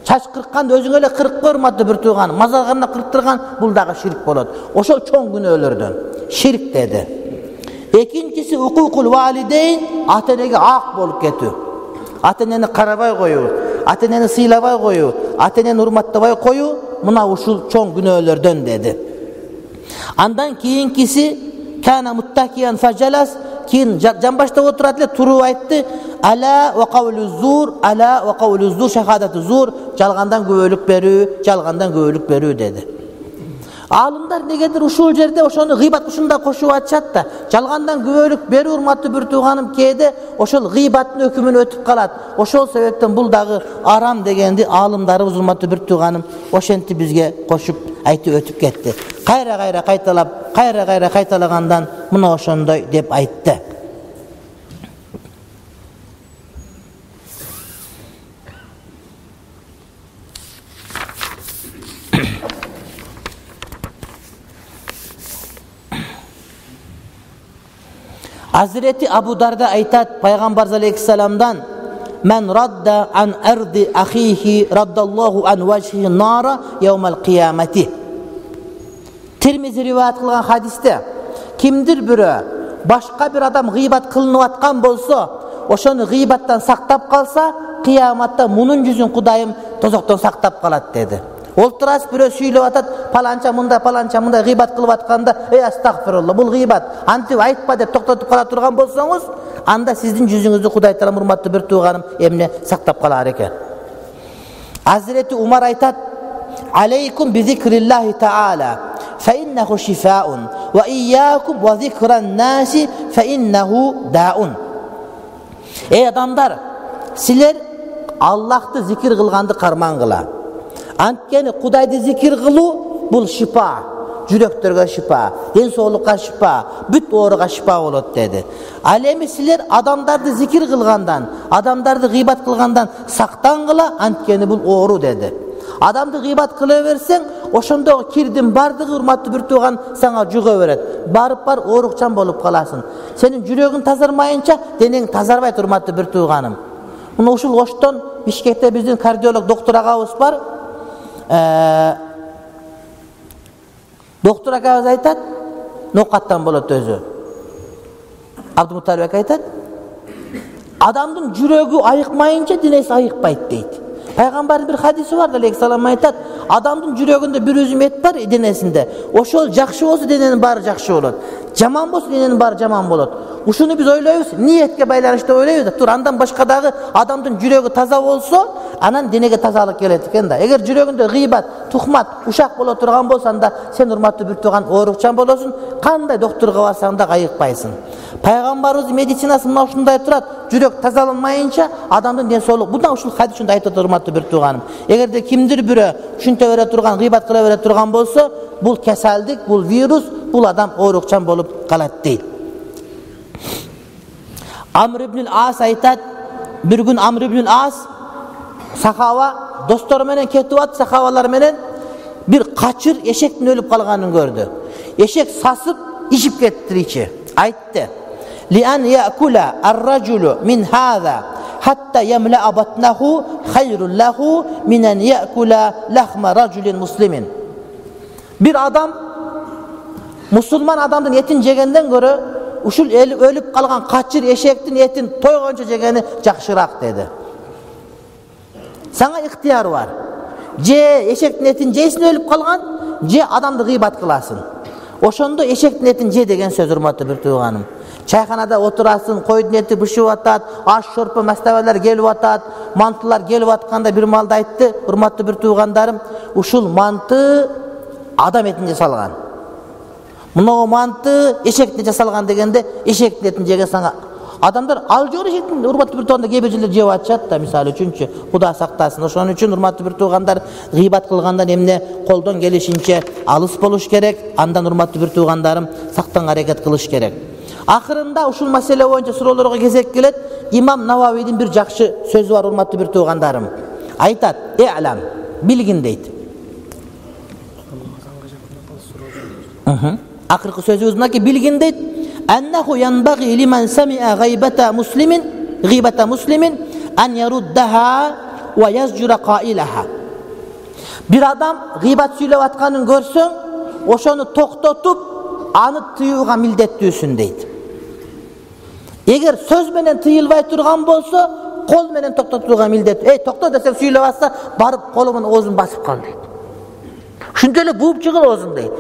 Çaç kırıkkanda özün öyle kırık görmadı bir tuğanı. Mazarganına kırıktırgan bul dağı şirk boladı. Oşol çoğun günörlerden. Şirk dedi. Ekincisi hukukul valideyn, atenege ak bolup ketü. Ateneni karabay koyu, ateneni sıylabay koyu, ateneni hurmattabay koyu, muna uşul çoğun günörlerden dedi. Andan keyinkisi kana muttakiyan fajalas, keyin jambaşta oturat ele turu aytdı. Ala ve kavlü zur, ala ve kavlü zur, şehadatı zur, çalgandan göğülük berü, çalgandan göğülük berü dedi. Алымдар негедир ушул жерде ошону гыйбат ушунда кошуп атышат да. Жалгандан күбөлүк берүү урматтуу бир тууганым кээде ошол гыйбаттын өкүмүн өтүп калат. Ошол себептен бул дагы арам дегенди алымдарыбыз урматтуу бир тууганым ошентип бизге кошуп айтып өтүп кетти. Кайра кайра кайталап, кайра кайра кайталагандан мына ошондой деп айтты. Hazreti Abu Darda aytat Payg'ambar alayhissalomdan "Men radda an ardi akhihi raddallohu an wajhihi nara yawmal qiyamati." Tirmizi rivayet kılgan hadiste kimdir biri başka bir adam gıybat kılınıp atkan bolsa, oşonu gıybattan saktap kalsa, kıyamatta munun yüzün Kudayım tozoktan saktap kalat dedi. Olturas biri süylep atat, palanca munda palanca munda gıybat kılıp atkanda, ey astagfirullah, bul gıybat. Antip aytpa dep toktotup kala turgan bolsanız, anda sizin yüzünüzü Kuday taala hurmatlı bir tuğanım emne saktap kalar eken. Hazreti Umar aytat, "Aleykum bi zikrillahi taala, fe innehu şifaun, ve iyyakum ve zikran nasi fe innehu daun." Ey adamlar, sizler Allah'ты zikir kılgandı karman kıla. Antkeni Kudaydı zikir kılu bul şifa, jüröktörgө şifa, den soğlukka şifa, büt ooruga şifa bolot dedi. Al emi sizler adamdardı zikir kılgandan, adamdardı gıybat kılgandan saktan kıla, antkeni bul ooru dedi. Adamdı gıybat kılıversen, oşondo kirdin bardı hurmatlı bir tuğan sana juga beret. Barıp bar oorukçan bolup kalasın. Senin jürögün tazarmayınca deneň tazarbayt hurmatlı bir tuğanım. Muna uşul oşton Bişkekte bizden kardiyolog doktor agabız var. Ee, doktor agabız aytat, nokattan bolot özü. Abdülmuttalip aytat, adamdın jürögü ayıkmayınca dinesi ayıkpayt deydi. Peygamberin bir hadisi var da aleyhissalam aytat, adamdın jürögünde bir üzüm et var denesinde. Oşol jakşı bolsa denenin bari jakşı bolot. Jaman bolsa denenin bari jaman bolot. Uşunu biz oylayız, niyetke baylanışta oylayız da, tur andan başkadagı adamdın jürögü taza bolsa, anan denege tazalık gelet eken da. Eger jürögünde gıybat, tuhmat, uşak bolo turgan bolsan da, sen hurmatlı bir tuğan oorukçan bolosun, kanday doktorga barsan da ayıkpaysın. Peygamberimiz medisinası mına uşunday turat, jürök tazalanmayınca adamdın densoluk. Bundan uşul hadis şunda aytat hurmatlı bir tuğanım. Eger de kimdir biri şunta vere turgan, gıybat kıla vere turgan bolsa, bul keseldik, bul virüs, bul adam oorukçan bolup kalat değil. Amr ibn al-As aytat, bir gün Amr ibn al-As sahaba dostları menen ketip at, sahabalar menen bir kaçır eşektin ölüp kalganын gördü. Eşek sasıp işip kettir içi. Aytdı: "Li an ya'kula ar-raculu min hada hatta yamla'a batnahu hayrun lahu min an ya'kula lahma raculin muslimin." Bir adam Müslüman adamdın etin jegenden göre uşul ölüp kalgan kaçır eşektin etin toygonca jegeni jakşırak dedi. Sana ihtiyar var. Je eşektin etin jeysin ölüp kalgan, je adamды gıybat kılasın. Oşondo eşektin etin je degen söz hurmatlı bir tuğanım. Çayxanada oturasın, koydun eti bışıp atat, aş şorpa mastabalar gelip atat, mantılar gelip atkanda bir malda aytты, hurmatlı bir tuğandarım, uşul mantı adam etinde salgan. Muna mantı eşekte jasalgan degende eşektin etin jege sana adamlar al jor eşektin hurmatlı bir tuğanda kebejiler jеп atышат da misal üçünçü Kuda saktasın. Oşon üçün hurmatlı bir tuğandar gıybat kılgandan emne koldan gelişince alыс boluş gerek. Andan hurmatlı bir tuğandarım saktan hareket kılış gerek. Ahırında uşul mesele boyunca surolarga кезек kelet. İmam Navavi'nin bir jakşı sözü var hurmatlı bir tuğandarım. Aytat: "E'lam, bilgin" deydi. Hı. Akırkı sözümüzdeki bilgin deydi. "Ennehu yanbaghi limen sami'a gıybata muslimin, gıybata muslimin an yaruddaha ve yazjura qailaha." Bir adam gıybat süylep atkanın görsün, oşonu toktotup anı tıyууга mildettүүsün deydi. Eger söz menen tıyılbay turgan bolsa, kol menen toktotuuga mildet. Ey tokto desek süylep atsa, barıp kolumun oozun basıp kal deydi. Şunday ele buup çykyl oozun deydi.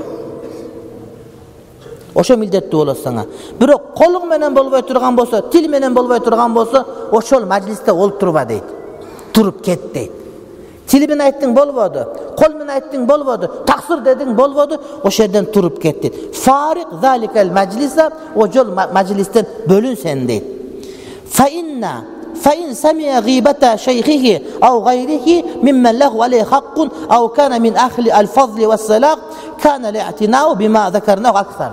Oşo mildettүү bolot sana. Bирок kolun menen bolbay turgan bolsa, til menen bolbay turgan bolsa, oşol majliste olturba deydi. Turup ket deydi. Tili menen aytdың bolbodu. Kol menен aytding bolbodu, taksir deding bolbodu, o şerden turup ketdi. Farik zalikel meclisa, o jol majlisten bölün sen deydi. Fa inna fa in sami'a ghibata shaykhihi aw ghayrihi mimman lahu alayhi haqqun aw kana min ahli al-fadl was-salah kana li'tina'u bima zakarnahu aksar.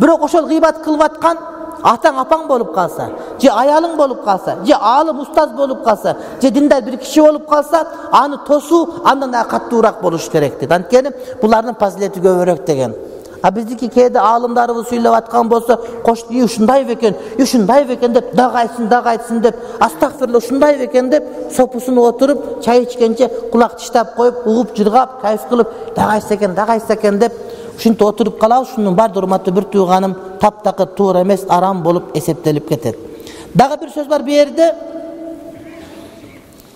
Birok oşol gıybat kılıp atkan ataң apаң болуп калса, же аялың болуп калса, же алым устаз болуп калса, же диндар бир киши болуп калса, аны тосуу андан да каттуураак болуш керек дейт. Анткени булардын фазилети көбүрөөк деген. А биздики кээде аалымдарыбыз сүйлөп аткан болсо, кошту ушундай бекен, ушундай бекен деп дагы айтсын, дагы айтсын деп, астагфирулла ушундай бекен деп, сопусуна отуруп, чай ичкенче кулак тиштап коюп, угуп жыргап, кайф кылып, дагы айтса экен, дагы айтса экен деп ушинтип отуруп калабыз. Шунун бар урматтуу бир тууганым, таптакыр туура эмес, арам болуп эсептелип кетет. Дагы бир сөз бар бу жерде.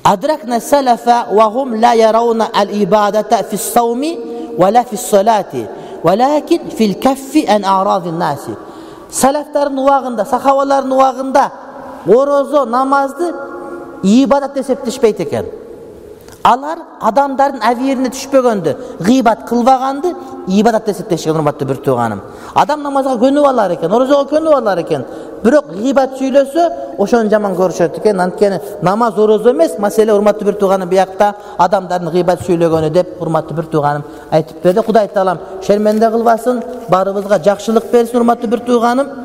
Адракна салафа ва хум ла ярауна ал-ибадата фис-сауми ва ла фис-салати, валакин фил-каффи ан а'радин-наси. Салафтардын убагында, сахабалардын убагында орозо, намазды ибадат эсептешпейт экен. Алар адамдардын авирине түшпөгөндү, гыйбат кылбаганды ибадат эсептешкен, урматтуу бир тууганым. Адам намазга көнүп алар экен, орозого көнүп алар экен. Бирок гыйбат сүйлөсө, ошону жаман көрүшөт экен. Анткени намаз орозо эмес, маселе урматтуу бир тууганым биякта адамдардын гыйбат сүйлөгөнү деп урматтуу бир тууганым айтып берди. Кудай таалам шерменде кылбасын, барыбызга жакшылык берсин, урматтуу бир тууганым.